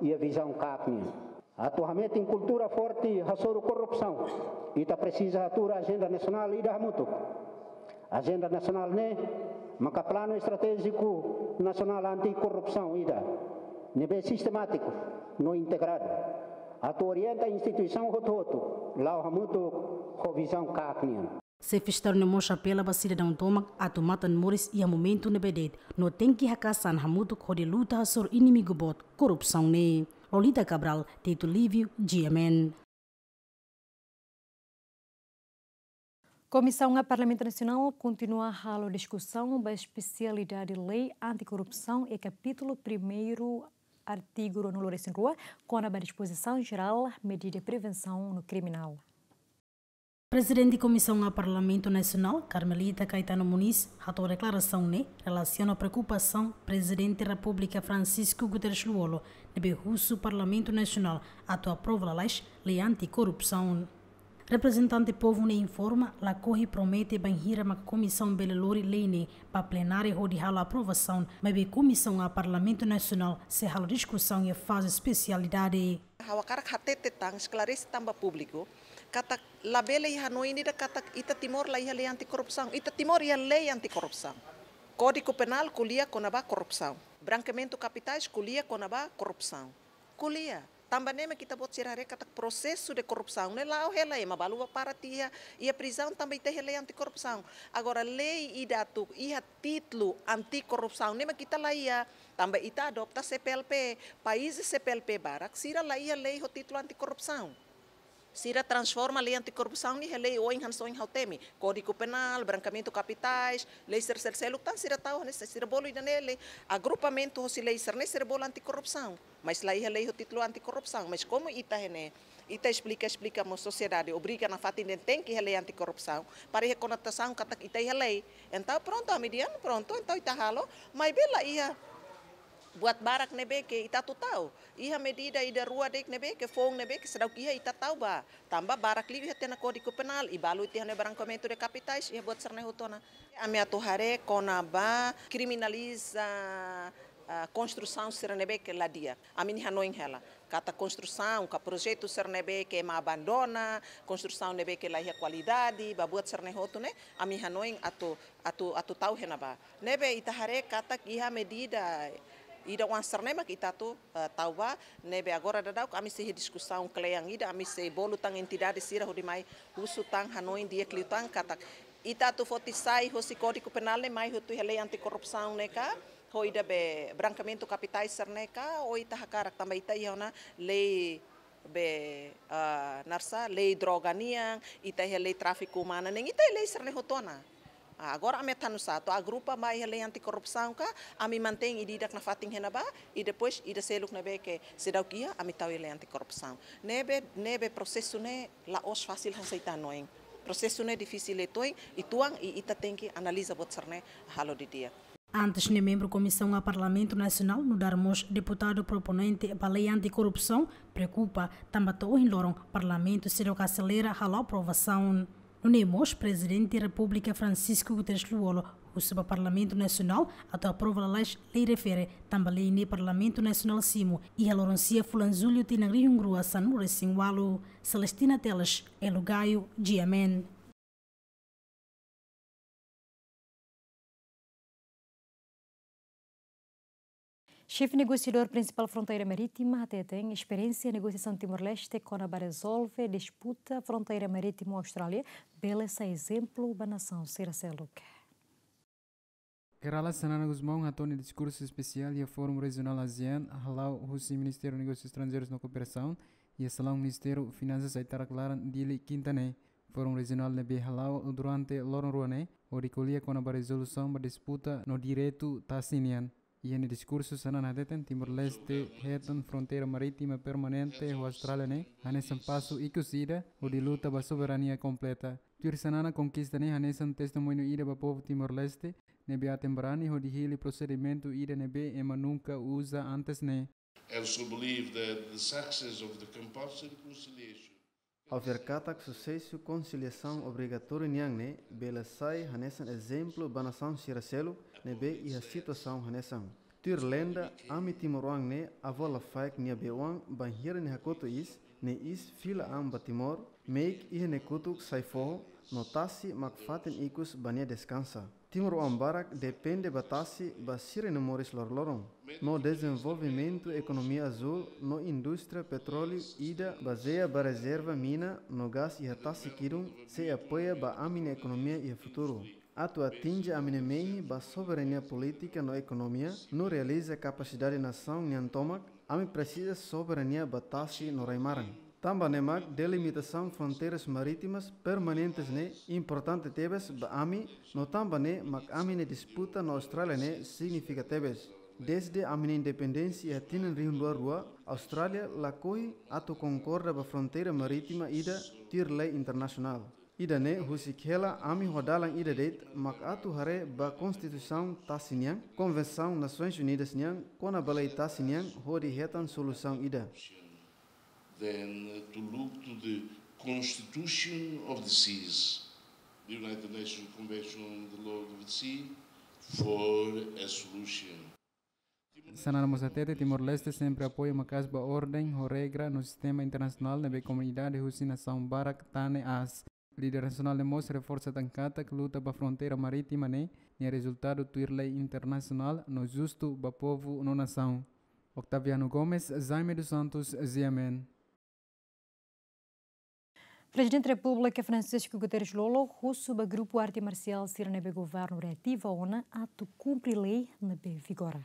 iha vizaun CAC nian. Atu hametin kultura forte hasoru korrupsaun, ita presiza hatuur ajenda nasionál ida hamutuk. Ajenda nasionál ne'e maka Planu Estratéjiku Nasionál Anti-Korrupsaun ida ne'ebé sistemátiku no integradu, atu orienta instituisaun hotu-hotu la'o hamutuk ho vizaun CAC nian. Xefe Estadu ne'e mós apela ba sidadaun tomak atu matan moris iha momentu ne'ebé de'it, no tenke haka'as an hamutuk hodi luta hasoru inimigu boot korrupsaun ne'e. Lolita Cabral, Tito Livio, G M N. Komisaun A Parlamentu Nasionál kontinua halo diskusaun ba espesialidade lei anti-korrupsaun iha kapítulu primeiru, artigu ruanulu-resin-rua, kona-ba dispozisaun jerál, medida prevensaun no kriminál. Prezidente Komisaun A Parlamentu Nasionál, Carmelita Caetano Muniz, hato'o deklarasaun ne'e relasiona preokupasaun Prezidente Repúblika Francisco Guterres Lú-Olo, ne'ebé husu Parlamentu Nasionál atu aprova lalais lei anti-korrupsaun. Reprezentante povu ne'e informa, lakohi promete bainhira maka komisaun bele lori lei ne'e ba plenária hodi halo aprovasaun, maibé Komisaun A Parlamentu Nasionál sei halo diskusaun iha faze espesialidade. Ha'u hakarak hatete tan, esklarese tan ba públiku, katak labele iha hanoin ida katak ita Timor la iha lei anti-korrupsaun. Ita Timor iha lei anti-korrupsaun. Kódigu Penál ko'alia kona-ba korrupsaun. Brankeamentu kapitais ko'alia kona-ba korrupsaun. Ko'alia. Tanba ne'e mak ita-boot sira haree katak prosesu de korrupsaun ne'e la'o hela, ema balu bá para tiha iha prizaun tanba ita iha lei anti-korrupsaun. Agora lei ida atu iha títulu anti-korrupsaun ne'e mak ita la iha. Tanba ita adopta C P L P, país C P L P barak, sira la iha lei ho títulu anti-korrupsaun. Sira transforma lei antikorrupsaun ne'e iha lei oin hanesan ohin ha'u temi. Kódigu Penál, brankeamentu kapitais, lei sira sel-, seluk tan sira tau hanesan sira bolu ida-ne'e lei agrupamentu hosi lei sira-ne'e sira bolu antikorrupsaun. Mas la iha lei ho títulu antikorrupsaun. Mas komu ita iha ne'e, ita esplika, esplika mós sosiedade, obriga nafatin dehan tenke iha lei antikorrupsaun. Para iha konotasaun katak ita iha lei. Entaun prontu, ami dehan prontu, entaun ita halo, maibé la iha buat barak ne'ebé ke ita atu tau. Iha medida ida rua de'it ne'ebé ke foun ne'ebé ke seidauk iha ita tau ba. Tanba barak liu iha tiha ona Kódigu Penál, i balu tiha ona brankeamentu de kapitais, iha buat sira-ne'e hotu ona. Ami atu haree kona-ba kriminaliza, ah, konstrusaun sira ne'ebé ke la di'ak. Ami-nia hanoin hela. Katak konstrusaun, ka projetu sira ne'ebé ke ema abandona, konstrusaun ne'ebé ke la iha kualidade, ba buat sira-ne'e hotu ne'e, ami hanoin atu, atu, atu tau iha ne'ebá. Ne'ebé ita haree katak iha medida ida-oan sira-ne'e mak ita atu, eh, tau ba, ne'ebé agora daudauk ami sei diskusaun kle'an ida, ami sei bolu tan entidade sira hodi mai husu tan hanoin di'ak liután katak ita atu foti sai hosi Kódigu Penál ne'e mai hotu iha lei antikorrupsaun ne'e ka, ho ida be brankeamentu kapitais sira-ne'e ka, ou ita hakarak tanba ita iha ona lei be, ah, naran sá, lei droga nian, ita iha lei tráfiku umanu nian, ita iha lei sira-ne'e hotu ona. Ah, agora ami atu halo nusá, atu agrupa mai iha lei antikorrupsaun ka, ami mantein ida-idak nafatin iha ne'ebá, i depois ida seluk ne'ebé ke seidauk iha, ami tau iha lei antikorrupsaun. Ne'ebé, ne'ebé prosesu ne'e la'ós fasil hanesan ita hanoin. Prosesu ne'e difisil uitoan, uitoan, i ita tenke analiza buat sira-ne'e halo didi'ak. Antes ne'e membru Komisaun A Parlamentu Nasionál nu'udar mós deputadu proponente ba lei antikorrupsaun preokupa tanba to'o ohin loron Parlamentu seidauk aselera halo aprovasaun. Nune'e mós Prezidente Repúblika Francisco Guterres Lú-Olo husu ba Parlamentu Nasionál atu aprova lalais lei refere tanba lei ne'e Parlamentu Nasionál simu iha loron sia fulan Jullu tinan rihun rua sanulu resin ualu. Celestina Teles, Elo Gaio, G M N. Xefe negosiadór prinsipál fronteira marítima hateten esperiénsia negosiasaun Timor-Leste kona-ba rezolve disputa fronteira marítima ho Austrália bele sai ezemplu ba nasaun sira seluk. Kay Rala Xanana Gusmão hato'o nia diskursu espesiál iha Fórum Rejionál ASEAN hala'o husi Ministériu Negósius Estranjeirus no Kooperasaun iha salaun Ministériu Finansas Aitarak Laran, Dili, Kinta ne'e. Fórum rejionál ne'ebé hala'o durante loron rua ne'e hodi ko'alia kona-ba rezolusaun ba disputa no direitu tasi nian. Iha nia diskursu Xanana hateten Timor-Leste hetan fronteira marítima permanente ho Austrália ne'e hanesan pasu ikus ida hodi luta ba soberania kompleta. Tuir Xanana, konkista ne'e hanesan testemuñu ida ba povu Timor-Leste ne'ebé aten barani hodi hili prosedimentu ida ne'ebé ema nunka uza antes ne'e. I also believe that the success of the compulsory reconciliation Ha'u fiar katak susesu konsiliasaun obrigatóriu nian ne'e bele sai hanesan ezemplu ba nasaun sira seluk ne'ebé iha situasaun hanesan. Tuir lenda, ami timoroan ne'e avó lafaek nia bei-oan bainhira nia hakotu iis, nia iis fila an ba Timor, meik iha nia kotuk sai foho, no tasi mak fatin ikus ba nia deskansa. Timoroan barak depende ba tasi ba sira-nia moris loroloron. No dezenvolvimentu ekonomia azúl no indústria petróleu ida bazeia ba rezerva mina no gás iha tasi-kidun sei apoia ba ami-nia ekonomia iha futuru. Atu atinje ami-nia mehi ba soberania polítika no ekonomia no realiza kapasidade nasaun nian tomak, ami presiza soberania ba tasi no rai-maran. Tanba ne'e mak delimitasaun fronteiras marítimas permanentes ne'e importante tebes ba ami, no tanba ne'e mak ami-nia disputa no Austrália ne'e signifika tebes. Dezde ami-nia independénsia iha tinan rihun rua rua, Austrália lakohi atu konkorda ba fronteira marítima ida tuir lei internasionál. Ida-ne'e husik hela ami ho dalan ida de'it mak atu haree ba Konstituisaun tasi nian, Konvensaun Nasoins Unidas nian kona-ba lei tasi nian hodi hetan solusaun ida. Then, uh, to look to the Constitution of the Seas, the United Nations Convention on the Law of the Sea, for a solution. Xanana mós hatete Timor-Leste sempre apoia maka'as ba orden ho regra no sistema internasionál ne'ebé komunidade husi nasaun barak tane aas. Líder nasionál ne'e mós reforsa tan katak luta ba fronteira marítima ne'e nia rezultadu tuir lei internasionál no justu ba povu no nasaun. Octaviano Gomes, Jaime dos Santos, G M N. Prezidente Repúblika Francisco Guterres Lú-Olo husu ba grupu arte marsiál sira ne'ebé governu reativa ona atu kumpre lei ne'ebé vigora.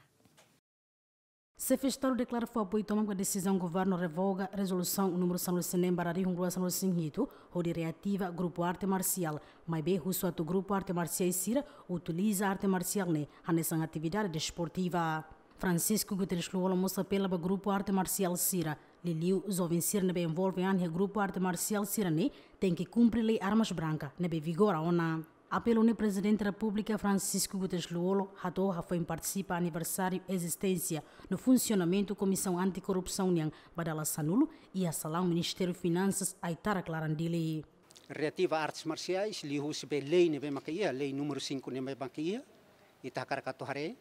Xefe Estadu deklara fó apoiu tomak ba desizaun governu revoga rezolusaun númeru sanulu-resin-neen barra rihun rua sanulu-resin-hitu, hodi reativa grupu arte marsiál, maibé husu atu grupu arte marsiais sira utiliza arte marsiál ne'e hanesan atividade desportiva. Francisco Guterres Lú-Olo mós apela ba grupu arte marsiál sira, liuliu joven sira ne'ebé envolve an iha grupu arte marsiál sira-ne'e, tenke kumpre lei armas branka ne'ebé vigora ona. Apelu ne'e Prezidente Repúblika Francisco Guterres Lú-Olo hato'o hafoin partisipa aniversáriu ezisténsia no funsionamentu Komisaun Antikorrupsaun nian ba dala sanulu iha salaun Ministériu Finansas Aitarak Laran Dili. Reativa artes marsiais liuhusi be lei ne'ebé maka iha, lei númeru sinku ne'ebé maka iha, ita hakarak atu haree,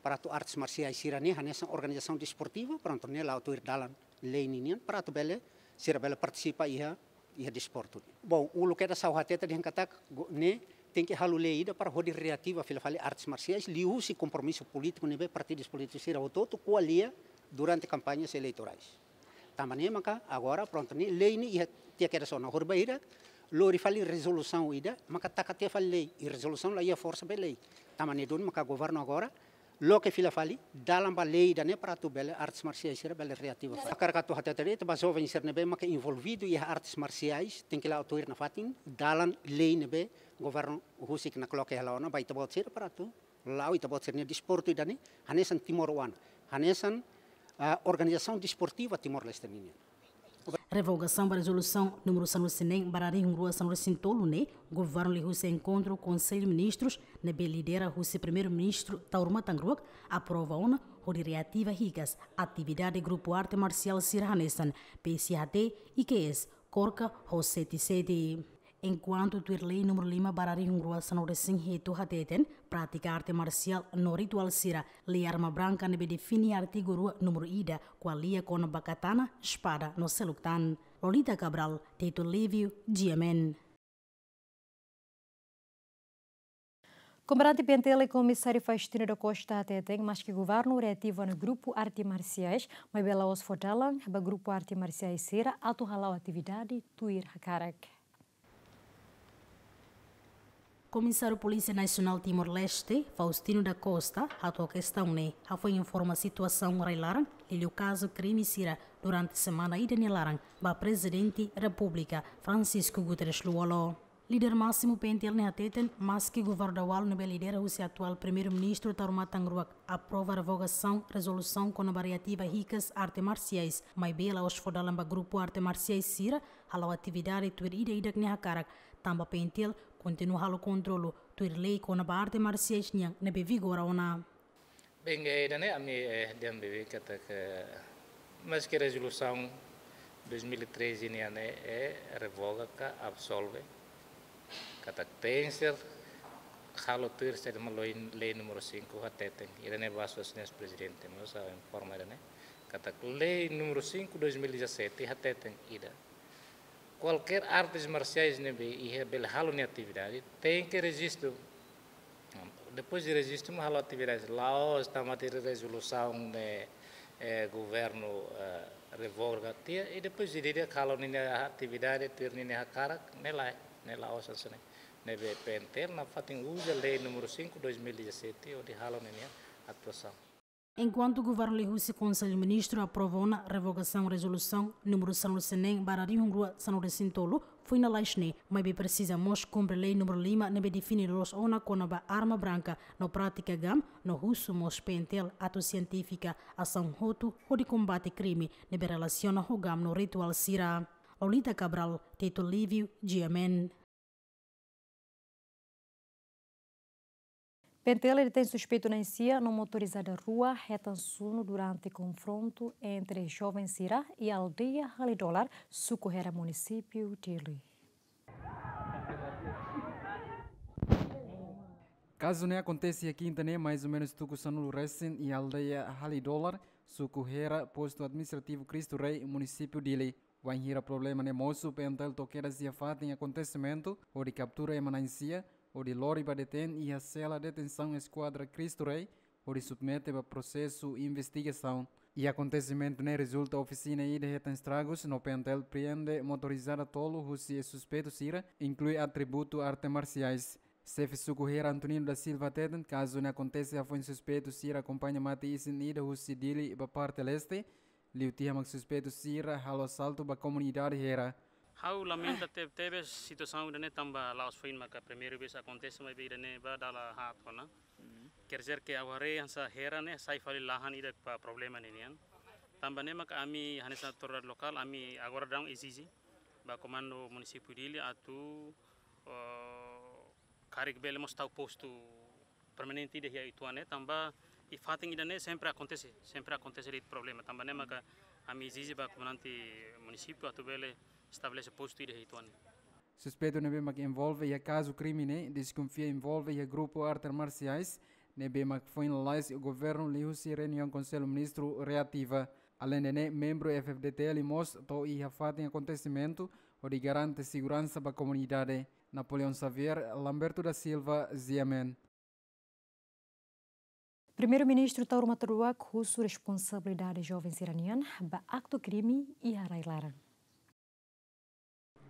para atu artes marsiais sira-ne'e hanesan organizasaun desportiva, prontu, ne'e la'o tuir dalan lei ninian, para atu bele, sira bele partisipa iha, iha desportu. Bom, uluk kedas ha'u hatete dehan katak, go-, ne'e tenke halo lei ida para hodi reativa fila fali artes marsiais, liuhusi kompromisu polítiku ne'ebé partidus polítikus sira hotu-hotu ko'alia durante kampanhas eleitorais. Tanba ne'e maka agora, prontu, ne'e lei ne'e iha tiha kedas ona, hori bainhira lori fali rezolusaun ida, maka taka tiha fali lei, i rezolusaun la iha forsa be lei. Tanba ne'e duni maka governu agora loke fila fali dalan ba lei ida-ne'e para atu bele artes marsiais sira bele reativa fali. Hakarak atu hatete de'it ba joven sira ne'ebé maka envolvidu iha artes marsiais, tenke la'o tuir nafatin dalan lei ne'ebé governu husik nakloke hela ona ba ita-boot sira para atu la'o ita-boot sira-nia desportu ida-ne'e hanesan timoroan, hanesan, ah, organizasaun desportiva Timor-Leste ninian. Revogasaun ba rezolusaun númeru sanulu-resin-neen barra rihun rua sanulu-resin-tolu ne'e, governu liuhusi enkontru Konsellu Ministrus ne'ebé lidera husi Primeiru-Ministru Taur Matan Ruak aprova ona hodi reativa hikas atividade grupu arte marsiál sira hanesan P S H T, I Q S, KORKA ho sete sete. Enkuantu tuir lei númeru lima barra rihun rua sanulu-resin-hitu hateten, prátika arte marsiál no rituál sira, lei arma branka ne'ebé define artigu rua númeru ida, ko'alia kona-ba katana, espada no seluk tan. Lolita Cabral, Tito Livio, G M N. Komandante P N T L Komisáriu Faustino da Costa hateten, maski governu reativa ona grupu arte marsiais, maibé la'ós fó dalan ba grupu arte marsiais sira atu hala'o atividade tuir hakarak. Komisáriu Polísia Nasionál Timor-Leste, Faustino da Costa, hato'o kestaun ne'e, hafoin informa situasaun rai laran, liuliu kazu krime sira durante semana ida nia laran, ba Prezidente Repúblika, Francisco Guterres Lú-Olo. Líder másimu P N T L ne'e hateten, maski governu daudaun ne'ebé lidera husi atuál Primeiru-Ministru Taur Matan Ruak aprova revogasaun rezolusaun kona-ba reativa hikas arte marsiais, maibé la'ós fó dalan ba grupu arte marsiais sira hala'o atividade tuir ida-idak nia hakarak, tanba P N T L kontinua halo kontrolu tuir lei kona-ba arte marsiais nian ne'ebé vigora ona. Bem, eh, ida-ne'e ami, eh, dehan beibeik katak, maski rezolusaun dois mil e treze nian ne'e, eh, revoga ka absolve, katak tenke halo tuir saida mak lei, lei númeru sinku hateten. Ida-ne'e ba suas ne'e Prezidente mós informa ida-ne'e, katak lei númeru sinku dois mil e dezassete hateten ida. Kualkér artes marsiais ne'ebé iha bele halo nia atividade, tenke rejistu. Depois de rejistu, mak halo atividade. La'ós tanba tuir rezolusaun ne'e, eh, governu, eh, revoga tiha, i depois de dia halo ninia atividade, tuir ninia hakarak, ne'e lae, ne'e la'ós hanesan ne'e. Ne'ebé P N T L nafatin uza lei númeru sinku dois mil e dezassete, hodi halo ninia atuasaun. Enkuantu governu liuhusi Konsellu Ministru aprova ona revogasaun rezolusaun númeru sanulu-resin-neen barra rihun rua sanulu-resin-tolu, foin lalais ne'e, maibé presiza mós kumpre lei númeru lima ne'ebé define loloos ona kona-ba arma branka no prátika GAM, no husu mós P N T L atu sientifika asaun hotu hodi kombate krime ne'ebé relasiona ho GAM no rituál sira. Lolita Cabral, Tito Livio, G M N. P N T L detén suspeitu na'in sia no motorizada rua hetan sunu durante konfrontu entre joven sira iha aldeia Halidolar, suku Hera, munisípiu Dili. Kazu ne'e akontese iha kinta ne'e, mais ou menus tuku sanulu resin, iha aldeia Halidolar, suku Hera, postu administrativu Cristo Rei, munisípiu Dili. Wainhira problema ne'e mosu, P N T L to'o kedas iha fatin akontesimentu, hodi kaptura ema na'in sia, hodi lori ba detein iha sela detensaun Eskuadra Cristo Rei, hodi submete ba prosesu investigasaun. I akontesimentu ne'e rezulta ofisina ida hetan estragus, no P N T L priende motorizada tolu husi suspeitu sira, inklui atributu arte marsiais. Xefe Suku Hera Antonino da Silva hateten, kazu ne'e akontese hafoin suspeitu sira akompaña mate isin ida husi Dili ba parte leste, liu tiha mak suspeitu sira halo asaltu ba komunidade Hera. Ha'u lamenta tebetebes situasaun ida-ne'e tanba la'ós foin maka primeira vez akontese, maibé ida-ne'e ba dala haat ona. Quer dizer que ha'u haree hanesan Hera ne'e sai fali lahan ida ba problema ne'e nian. Tanba ne'e maka ami hanesan autoridade lokál, ami agora daudaun ezije ba komandu munisípiu Dili atu, eh, karik bele mós tau postu permanente ida iha uitoan ne'e, tanba iha fatin ida-ne'e sempre akontese, sempre akontese de'it problema. Tanba ne'e maka ami ezije ba komandante munisípiu atu bele estabelese postu ida iha uitoan ne'e. Suspeitu ne'ebé mak envolve iha kazu krime ne'e, deskonfia envolve iha grupu arte marsiais, ne'ebé mak foin lalais governu liuhusi reuniaun Konsellu Ministru reativa. Aleinde ne'e, membru F F D T L mós to'o iha fatin akontesimentu, hodi garante seguransa ba komunidade. Napoleão Xavier, Lamberto da Silva, G M N. Primeiru-Ministru Taur Matan Ruak husu responsabilidade joven sira-nian ba aktu krime iha rai-laran.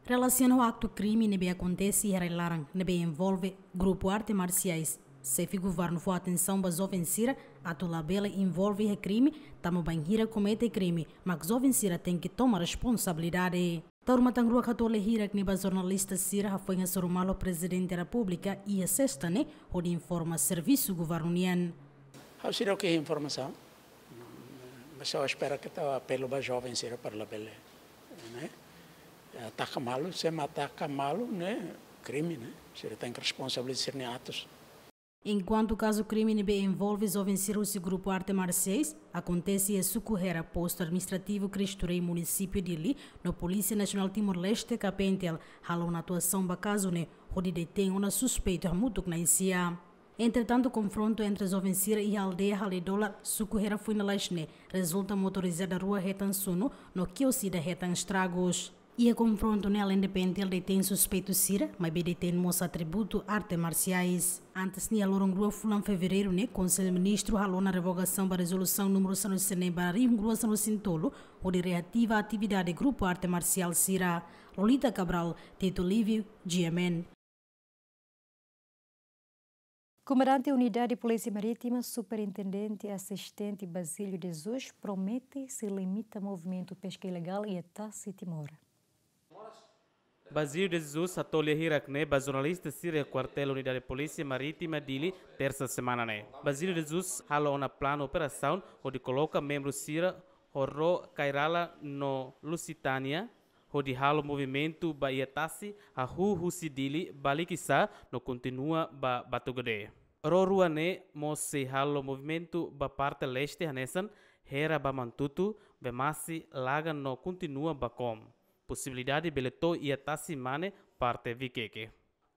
Relasiona ho aktu krime ne'ebé akontese iha rai-laran, ne'ebé envolve grupu arte marsiais, xefe governu fó atensaun ba joven sira atu labele envolve iha krime, tanba bainhira komete krime, mak joven sira tenke toma responsabilidade. Taur Matan Ruak hato'o lia hirak ne'e ba jornalista sira hafoin hasoru malu Prezidente Repúblika iha sesta ne'e hodi informa servisu governu nian. Ha'u seidauk iha informasaun, mas ha'u espera katak apelu ba joven sira para labele, ne'e, ataka malu, se ema ataka malu ne'e krime, ne'e, sira tenke responsabiliza sira-nia atus. Enkuantu kazu krime ne'ebé envolve joven sira husi grupu arte marsiais akontese iha Suku Hera, Postu Administrativu Cristo Rei, Munisípiu Dili, no Polísia Nasionál Timor-Leste, KPNTL, halo ona atuasaun ba kazu ne'e hodi detein ona suspeitu hamutuk na'in-sia. Entretantu, konfrontu entre joven sira iha aldeia Haledolar, Suku Hera, foin lalais ne'e rezulta motorizada rua hetan sunu no kios ida hetan estragus. Iha konfrontu ne'e, aleinde PNTL detein suspeitu sira, maibé detein mós atributu arte marsiais. Antes ne'e, iha loron rua fulan Fevereiru ne'e, Konsellu Ministru halo ona revogasaun ba rezolusaun númeru sanulu-resin-neen barra rihun rua sanulu-resin-tolu, hodi reativa atividade grupu arte marsiál sira. Lolita Cabral, Tito Livio, G M N. Komandante Unidade Polísia Marítima, Superintendente Asistente Basílio de Jesus, promete sei limita movimentu peska ilegál iha tasi Timor. Basílio de Jesus hato'o lia hirak ne'e ba jornalista sira iha kuartél Unidade Polísia Marítima Dili, tersa semana ne'e. Basílio de Jesus halo ona planu operasaun hodi koloka membru sira ho ró Kairala no Lusitânia, hodi halo movimentu ba iha tasi, hahú husi Dili ba Likisá no kontinua ba Batugade. Ró rua ne'e mós sei halo movimentu ba parte leste hanesan Hera ba Mantutu, Bemasi, Laga no kontinua ba Kom. Posibilidade bele to'o iha tasi mane parte Vikeke.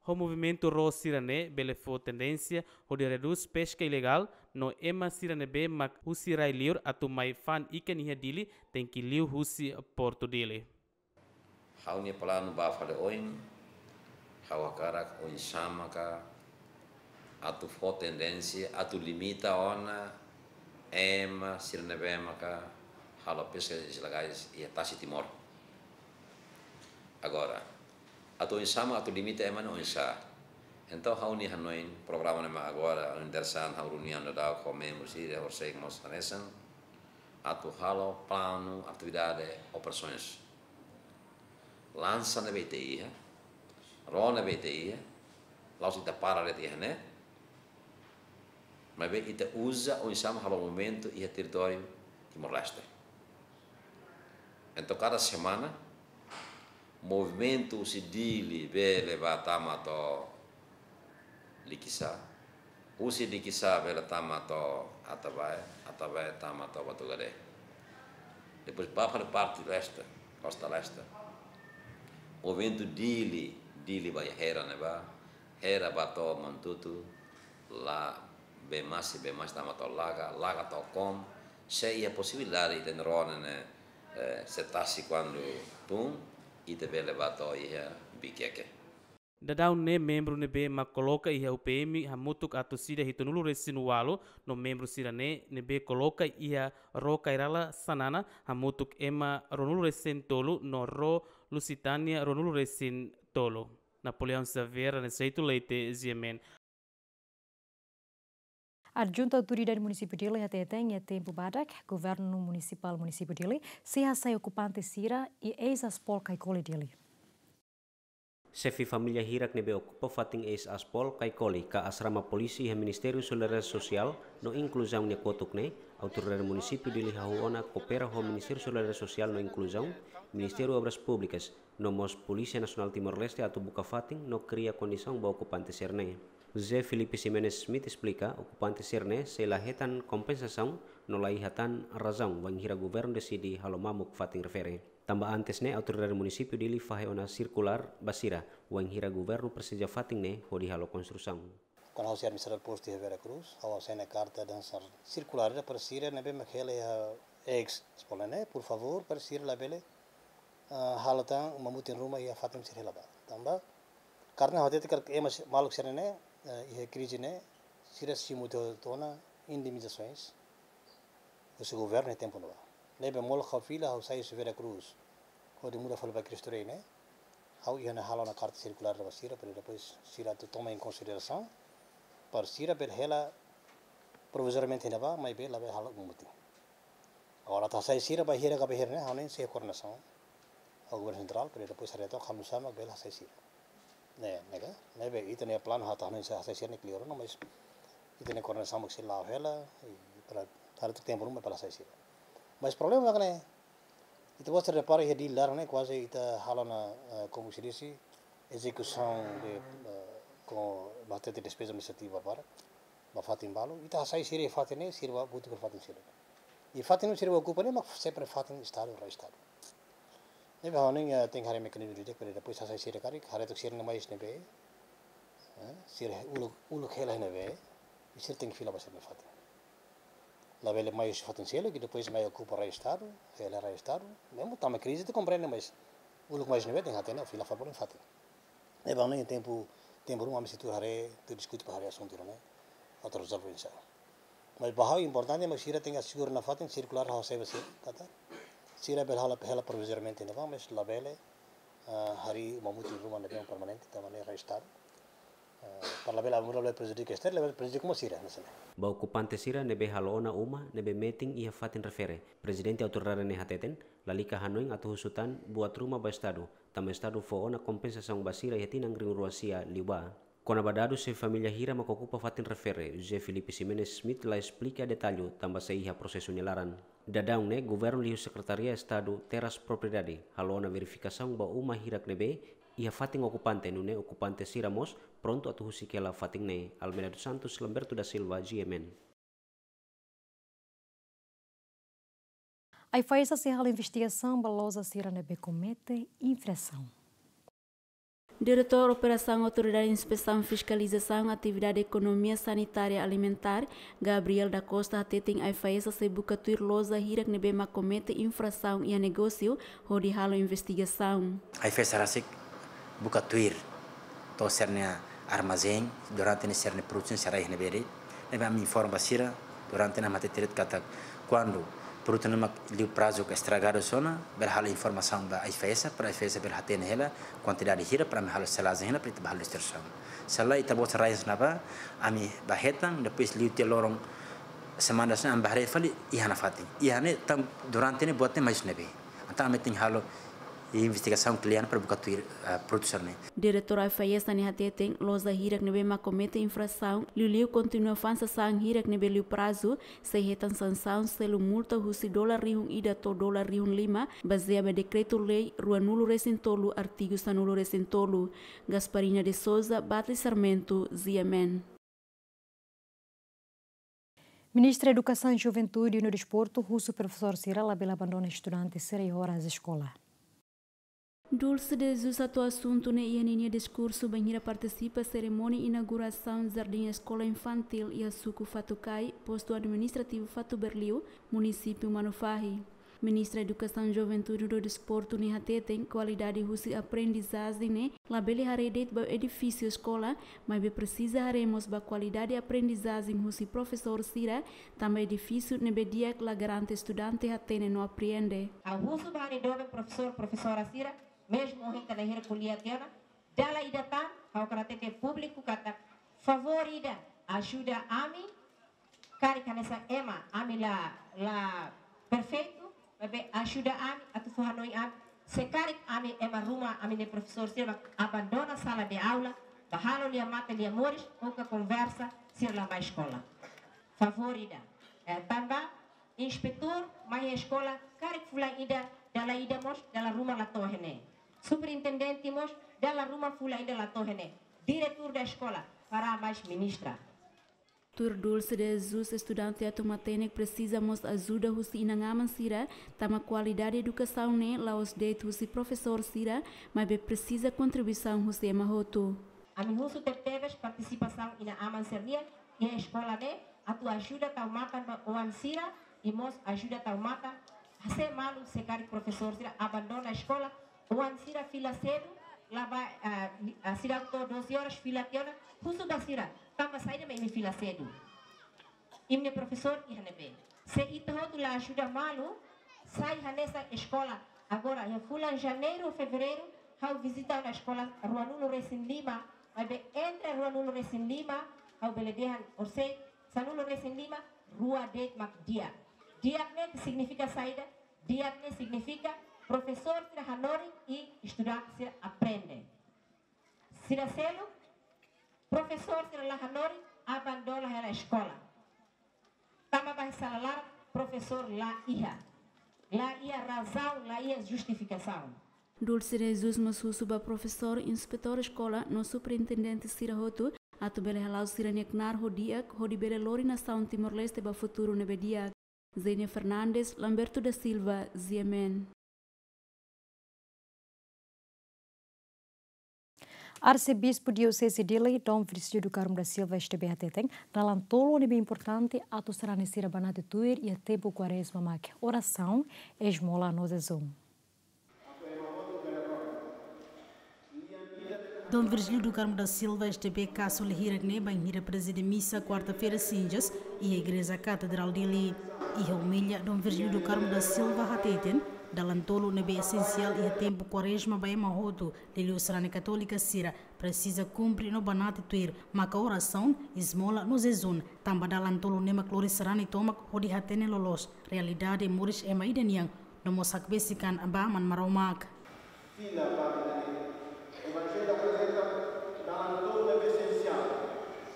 Ho movimentu ró sira-ne'e bele fó tendénsia hodi redús peska ilegál no ema sira ne'ebé mak husi rai-liur atu mai fa'an ikan iha Dili tenke liu husi Portu Dili. Ha'u-nia planu ba fali oin, ha'u hakarak oinsá maka atu fó tendénsia, atu limita ona ema sira ne'ebé maka halo peska ilegál iha tasi Timor. Agora, atu oinsá mak atu limita ema ne'e oinsá. Entaun ha'u-nia hanoin programa ne'e mak agora, ha'u-nia interesan, ha'u reuniaun daudaun ho membru sira, horiseik mós hanesan, atu halo planu atividade operasoens. Lansa ne'ebé ita iha, ró ne'ebé ita iha, la'ós ita para de'it iha ne'e, maibé ita uza oinsá mak halo movimentu iha territóriu Timor-Leste. Entaun kada semana, movimentu husi Dili bele ba tama to'o Likisá, husi Likisá bele tama to'o Atabae, Atabae tama to'o Batugade. Depois ba fali parte leste, kosta leste. Movimentu Dili, Dili ba iha Hera ne'ebá, Hera ba to'o Mantutu, la Bemasi, Bemasi tama to'o Laga, Laga to'o Kom, se iha posibilidade ita-nia ró ne'e, eh, se tasi kuandu tun, ita bele ba to'o iha Vikeke. Daudaun ne'e membru ne'ebé mak koloka iha U P M hamutuk atus ida hitunulu-resin-ualu no membru sira-ne'e ne'ebé koloka iha ró Kairala Xanana hamutuk ema ruanulu-resin-tolu no ró Lusitânia ruanulu-resin-tolu. Napoleão Xavier, Aniceto Leite, G M N. Adjuntu Autoridade Munisípiu Dili hateten iha tempu badak, Governu Munisipál Munisípiu Dili sei hasai okupante sira iha eis-Aspol Caicoli Dili. Xefe família hirak ne'ebé okupa fatin eis-Aspol Caicoli ka asrama polísia iha Ministériu Solidariedade Sosiál no Inkluzaun nia kotuk ne'e, Autoridade Munisípiu Dili hahú ona koopera ho Ministériu Solidariedade Sosiál no Inkluzaun, Ministériu Obras Públikas, no mós Polísia Nasionál Timor-Leste atu buka fatin no kria kondisaun ba okupante sira-ne'e. José Filipe Ximenes Schmidt esplika, okupante sira-ne'e sei la hetan kompensasaun no la iha tan razaun bainhira governu deside halo mamuk fatin refere. Tanba antes ne'e, Autoridade Munisípiu Dili fahe ona sirkulár ba sira, bainhira governu presiza fatin ne'e hodi halo konstrusaun. Kuandu ha'u sei administradór postu iha Vera Cruz, ha'u asina karta hanesan sirkulár ida para sira ne'ebé mak hela iha eis-Aspol ne'e, por favór, para sira labele, ah, halo tan uma mutin ruma iha fatin sira hela ba. Tanba, karta ne'e hatete katak ema si-, maluk sira-ne'e, eh, iha krize ne'e, sira simu tiha ona indemnizasoens husi governu iha tempu ne'ebá. Ne'ebé molok ha'u fila, ha'u sai husi Vera Cruz hodi muda fali ba Cristo Rei ne'e, ha'u iha ona halo ona karta sirkulár ba sira, para depois sira atu toma em consideração, para sira bele hela provizoriamente iha ne'ebá, maibé labele halo uma mutin. Agora atu hasai sira ba hira ka ba hira ne'e, ha'u ne'e sei koordenasaun ho governu sentrál, para depois haree took hanusa mak bele hasai sira. Ne'e, ne'e ka? Ne'ebé ita-nia planu atu hanoin sei hasai sira ne'e kleur ona, mas ita-nia koordenasaun mak sei la'o hela, i para haree took tempu ruma para hasai sira. Mas problema mak ne'e, ita-boot repara iha Dili laran ne'e kuaze ita halo ona, eh, como se disse, execução de, eh, com, ba hatete despeza administrativa para ba fatin balu, ita hasai sira iha fatin ne'e, sira ba buka fatin sira. I fatin ne'ebé sira ba okupa ne'e mak sempre fatin Estadu, rai Estadu. Ne'ebé ha'u hanoin, eh, tenke haree mekanizmu didi'ak para depois hasai sira karik, haree took sira-ne'e mais ne'ebé, eh, sira uluk, uluk hela ne'ebé, i sira tenke fila ba sira-nia fatin. Labele mai husi fatin seluk i depois mai okupa rai Estadu, hela rai Estadu, mezmu tanba krize ita komprende, mas uluk mais ne'ebé tenke hatene, fila fali ba nia fatin. Ne'ebé ha'u hanoin tempu, tempu ruma ami sei tuur haree, tuur diskute para haree asuntu ne'e, atu rezolve oinsá. Mas ba ha'u importante mak sira tenke asegura ona fatin, sirkulár ha'u hasai ba sira, katak sira bele hela, hela provizoriamente iha ne'ebá, mas labele, ah, harii uma mutin ruma ne'ebé permanente, tanba ne'e rai Estadu. Ah, para labele, labele prejudika Estadu, labele prejudika mós sira, hanesan ne'e. Ba okupante sira ne'ebé halo ona uma ne'ebé metin iha fatin refere, Prezidente Autoridade ne'e hateten, lalika hanoin atu husu tan buat ruma ba Estadu, tanba Estadu fó ona kompensasaun ba sira iha tinan rihun rua sia liubá. Kona-ba dadus xefe família hira mak okupa fatin refere, José Filipe Ximenes Schmidt la esplika detallu tanba sei iha prosesu nia laran. Daudaun ne'e, governu liuhusi Sekretaria Estadu Terras Propriedade halo ona verifikasaun ba uma hirak ne'ebé iha fatin okupante, nune'e okupante sira mós prontu atu husik hela fatin ne'e. Almeida dos Santos, Lamberto da Silva, G M N. AIFAESA sei halo investigasaun ba loja sira ne'ebé komete infrasaun. Diretór Operasaun Autoridade Inspesaun Fiskalizasaun Atividade Ekonomia Sanitária Alimentár, Gabriel da Costa, hateten AIFAESA sei buka tuir loja hirak ne'ebé mak komete infrasaun iha negósiu hodi halo investigasaun. AIFAESA rasik buka tuir to'o sira-nia armazén, durante ne'e sira-nia produsaun sira iha ne'ebé de'it. Ne'ebé ami informa ba sira, durante ne'e ami hatete de'it katak kuandu produtu ne'e mak liu prazu ka estragadu ona, bele halo informasaun ba AIFAESA, para AIFAESA bele hatene hela kuantidade hira, para ami halo selajen hela, para ita bá halo distribuisaun. Se lae, ita-boot rai hanesan ne'ebá, ami bá hetan, depois liu tiha loron semana sira ne'e ami bá haree fali iha ona fatin. Iha ne'e tan durante ne'e buat ne'e mais ne'ebé. Entaun ami tenke halo investigasaun kle'an para buka tuir, eh, produsaun ne'e. Diretór AIFAESA ne'e hateten, loja hirak ne'ebé mak komete infrasaun, liuliu kontinua fa'an sasán hirak ne'ebé liu prazu, sei hetan sansaun selu multa husi dolar rihun ida to'o dolar rihun lima, bazeia ba Dekretu-Lei ruanulu resin tolu, artigu sanulu resin tolu. Gasparina de Souza, Batli Sarmento, G M N. Ministra Edukasaun, Juventude no Desportu husu profesór sira labele abandona estudante sira iha oras eskola. Dulce de Jesus hato'o asuntu ne'e iha ninia diskursu bainhira partisipa serimónia inaugurasaun Jardín Escola Infantil iha suku Fatukai, Postu Administrativu Fatuberliu, Munisípiu Manufahi. Ministra Edukasaun, Juventude no Desportu ne'e hateten, kualidade husi aprendizajen ne'e labele haree de'it ba edifísiu eskola, maibé presiza haree mós ba kualidade aprendizajen husi profesór sira, tanba edifísiu ne'ebé di'ak la garante estudante hatene no apreende. Ha'u husu ba ha'u-nia doben profesór, profesora sira, mezmu ohin ita la iha ko'alia tiha ona, Dala ida tan, ha'u hakarak hatete públiku katak favór ida, ajuda ami, karik hanesan ema, ami la, la perfeitu, maibé ajuda ami, atu fó hanoin ami, se karik ami ema ruma, ami-nia profesór sira abandona sala de aula, bá halo lia-mate lia-moris, ou ka konversa, sira la mai eskola. Favór ida. Eh, tanba, inspetór mai eskola, karik fulan ida, dala ida mós, dala ruma la to'o iha ne'e. Superintendente mós, dala ruma fulan ida la to'o iha ne'e. Diretór da eskola, para mais ministra. Tuir Dulce de Jesus, estudante atu matenek presiza mós ajuda husi inan-aman sira, tanba kualidade edukasaun ne'e la'ós de'it husi profesór sira, maibé presiza kontribuisaun husi ema hotu. Ami husu tebetebes partisipasaun inan-aman sira-nian iha eskola ne'e, atu ajuda tau matan ba oan sira, i mós ajuda tau matan, se malu se karik profesór sira abandona eskola, oan sira fila sedu, la bá, ah, li-, ah, sira to'o doze horas fila tiha ona, husu ba sira, tanba saida mak imi fila sedu. Imi-nia profesór iha ne'ebé. Se ita hotu la ajuda malu, sai hanesan eskola. Agora, iha fulan Janeiru, Fevereiru, ha'u vizita ona eskola ruanulu-resin-lima, maibé entre ruanulu-resin-lima, ha'u bele dehan horisehik, sanulu-resin-lima, rua de'it mak di'ak. Di'ak ne'e signifika saida, di'ak ne'e signifika profesór sira hanorin i estudante sira aprende. Sira seluk, profesór sira la hanorin, abandona hela eskola. Tama ba sala laran, profesór la iha. La iha razaun, la iha justifikasaun. Dulce de Jesus mós husu ba profesór, inspetór eskola, no superintendente sira hotu, atu bele hala'o sira-nia knaar ho di'ak, hodi bele lori nasaun Timor-Leste ba futuru ne'ebé di'ak. Zenia Fernandes, Lamberto da Silva, G M N. Arsebispu Dioseze Dili, Dom Virgílio do Carmo da Silva, S D B, hateten, dalan tolu ne'ebé importante atu sarani sira banati tuir iha tempu Kuarezma mak orasaun, ezmola no jejún. Dom Virgílio do Carmo da Silva, S D B, kazu lia hirak ne'e bainhira prezide misa kuarta-feira Cinzas iha Igreja Katedrál Dili. Iha omilia, Dom Virgílio do Carmo da Silva hateten, dalan tolu ne'ebé esensiál iha tempu Kuarezma ba ema hotu, liuliu sarani katólika sira, presiza kumpre no banati tuir, maka orasaun, ezmola no jejún, tanba dalan tolu ne'e mak lori sarani tomak hodi hatene loloos realidade moris ema ida nian, no mós hakbesik an ba Aman Maromak. Fila ba ida-ne'e. Evanjellu aprezenta dalan tolu ne'ebé esensiál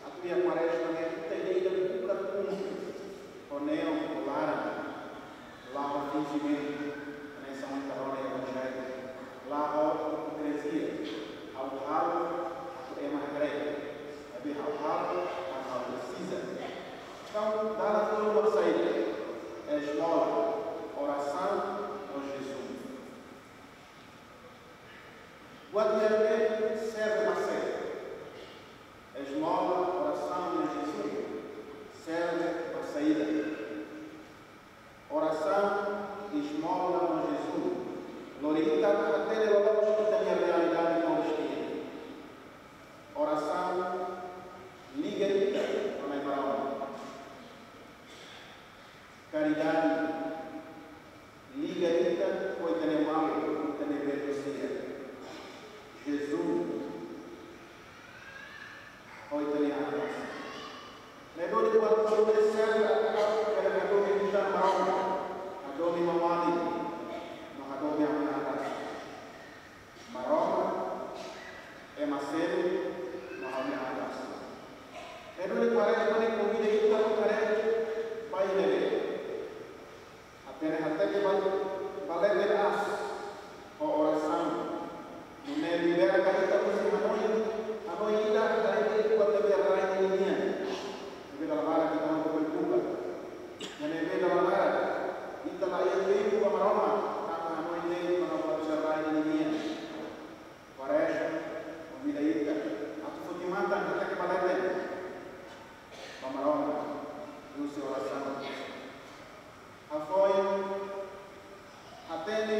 atu iha Kuarezma ne'e, ita ida-idak buka kumpre ho neon, ho laran, la ho finjimentu, hanesan ita rona iha Evanjellu, la ho ipokrizia, ha'u halo atu ema haree, maibé ha'u halo atu ha'u presiza. Entaun, dalan tolu mak saida, ezmola, orasaun no jejún. Buat ida-ne'e serve ba sé? Ezmola, orasaun no jejún serve ba saida? Orasaun, ezmola no jejún lori ita hatene loloos ita-nia realidade moris nian. Orasaun liga ita ho Nai Maromak. Karidade liga ita ho ita-nia maluk, ita-nia belu sira. Jejún ho ita-nia an rasik. Ne'e duni buat tolu ne'e serve atu bele hadomi ita Maromak, hadomi Maromak, no hadomi an rasik. Maromak, ema seluk, no ha'u-nia an rasik. Ne'e duni Kuarezma ne'e konvida ita atu haree ba ida-ne'e. Hatene hateke ba, ba leten aas ho orasaun. Nune'e liberta ita husi hanoin, hanoin ida, hanoin ida buat ne'ebé rai nian. Ne'ebé dala barak ita hotu bele buka. Ne'ebé dala barak ita la iha tempu ba Maromak, tanba hanoin ne'e, tanba buat sira rai nian. Kuarezma konvida ita atu foti matan, hateke ba leten ba Maromak, liuhusi orasaun. Hafoin, hatene,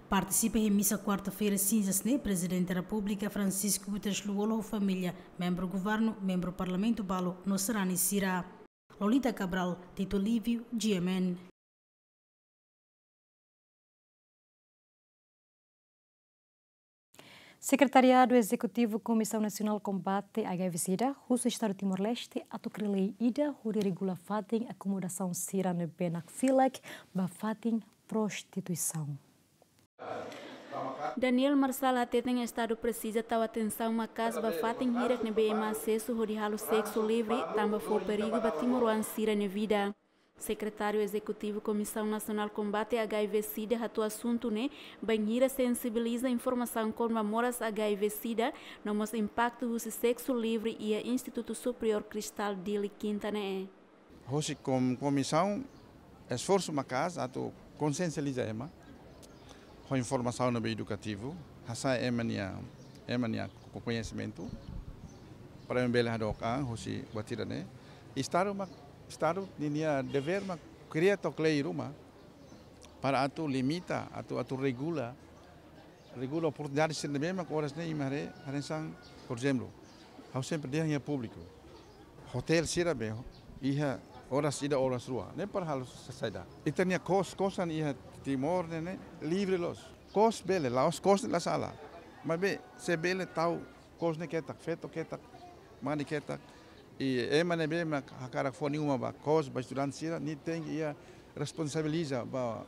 Partisipa iha misa kuarta-feira sinzas ne'e Prezidente Repúblika Francisco Guterres Lú-Olo ho família, membru governu, membru parlamentu balu no sarani sira. Lolita Cabral, Tito Lívio, G M N. Sekretariadu Ezekutivu Komisaun Nasionál Kombate H I V SIDA husu Estadu Timor-Leste atu kria lei ida hodi regula fatin akomodasaun sira ne'ebé nakfilak ba fatin prostituisaun. Daniel Marçal hateten Estadu presiza tau atensaun maka'as ba fatin hirak ne'ebé ema asesu hodi halo seksu livre, tanba fó perigu ba timoroan sira-nia vida. Sekretáriu Ezekutivu Komisaun Nasionál Kombate H I V SIDA hato'o asuntu ne'e bainhira sensibiliza informasaun kona-ba moras H I V SIDA, no mós impaktu husi seksu livre iha Institutu Superiór Cristal Dili, kinta ne'e. Hosi kom-, komisaun esforsu maka'as atu konsiensializa ema ho informasaun ne'ebé edukativu, hasa'e ema nia, ema nia ko-, koñesimentu, para ema bele hadook an hosi buat ida-ne'e. Estadu mak, Estadu ninia devér mak kria took lei ruma para atu limita, atu, atu regula, regula oportunidade sira ne'ebé mak oras ne'e imi haree, hanesan, por ezemplu, ha'u sempre dehan iha públiku, otél sira be iha oras ida, oras rua, ne'e para halo sa-, saida. Ita-nia kos, kosan iha Timor ne'e, ne'e livre loos. Kos bele, la'ós kos ne'e la sala. Maibé, se bele tau kos ne'e ketak, feto ketak, mane ketak, i ema ne'ebé mak hakarak fó nia uma ba kos, ba estudante sira, nia tenke iha responsabiliza ba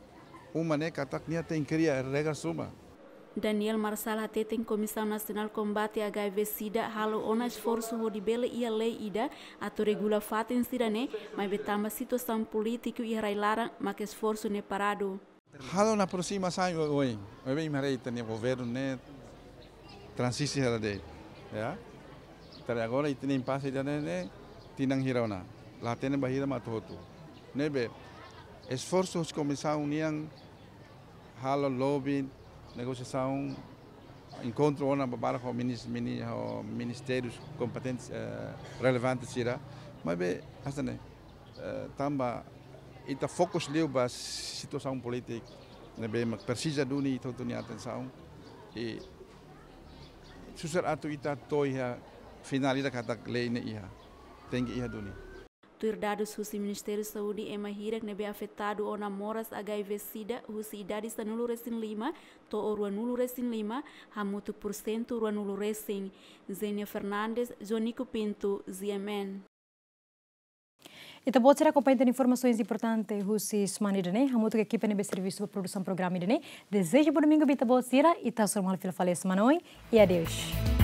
uma ne'e katak nia tenke kria regras ruma. Daniel Marçal hateten Komisaun Nasionál Kombate H I V SIDA halo ona esforsu hodi bele iha lei ida atu regula fatin sira-ne'e, maibé tanba situasaun polítiku iha rai-laran mak esforsu ne'e paradu. Halo ona aprosimasaun oioin. Oioin imi haree ita-nia governu ne'e transisi hela de'it, ya. Ita haree agora ita-nia impase ida-ne'e, ne'e tinan hira ona. La hatene bainhira mak atu hotu. Ne'ebé esforsu husi komisaun nian halo lobby, negosiasaun, enkontru ona barak ho minis-, mini-, ho ministériu kompetente, eh, relevante sira. Maibé, hanesan ne'e, eh, tanba ita fokus liu ba situasaun polítika ne'ebé mak presiza duni ita hotu nia atensaun. I susar atu ita to'o iha finál ida katak lei ne'e iha. Tenke iha duni. Tuir dadus husi Ministériu Saúde, ema hirak ne'ebé afetadu ona moras H I V SIDA husi idade sanulu-resin-lima to'o ruanulu-resin-lima, hamutuk pursentu ruanulu-resin. Zenia Fernandes, Jonico Pinto, G M N. Ita-boot sira akompaña tan informasaun importante husi semana ida-ne'e, hamutuk ho ekipa ne'ebé servisu ba produsaun programa ida-ne'e. Dezeja bom domingu ba ita-boot sira, ita hasoru malu fila fali semana oin, i adeus.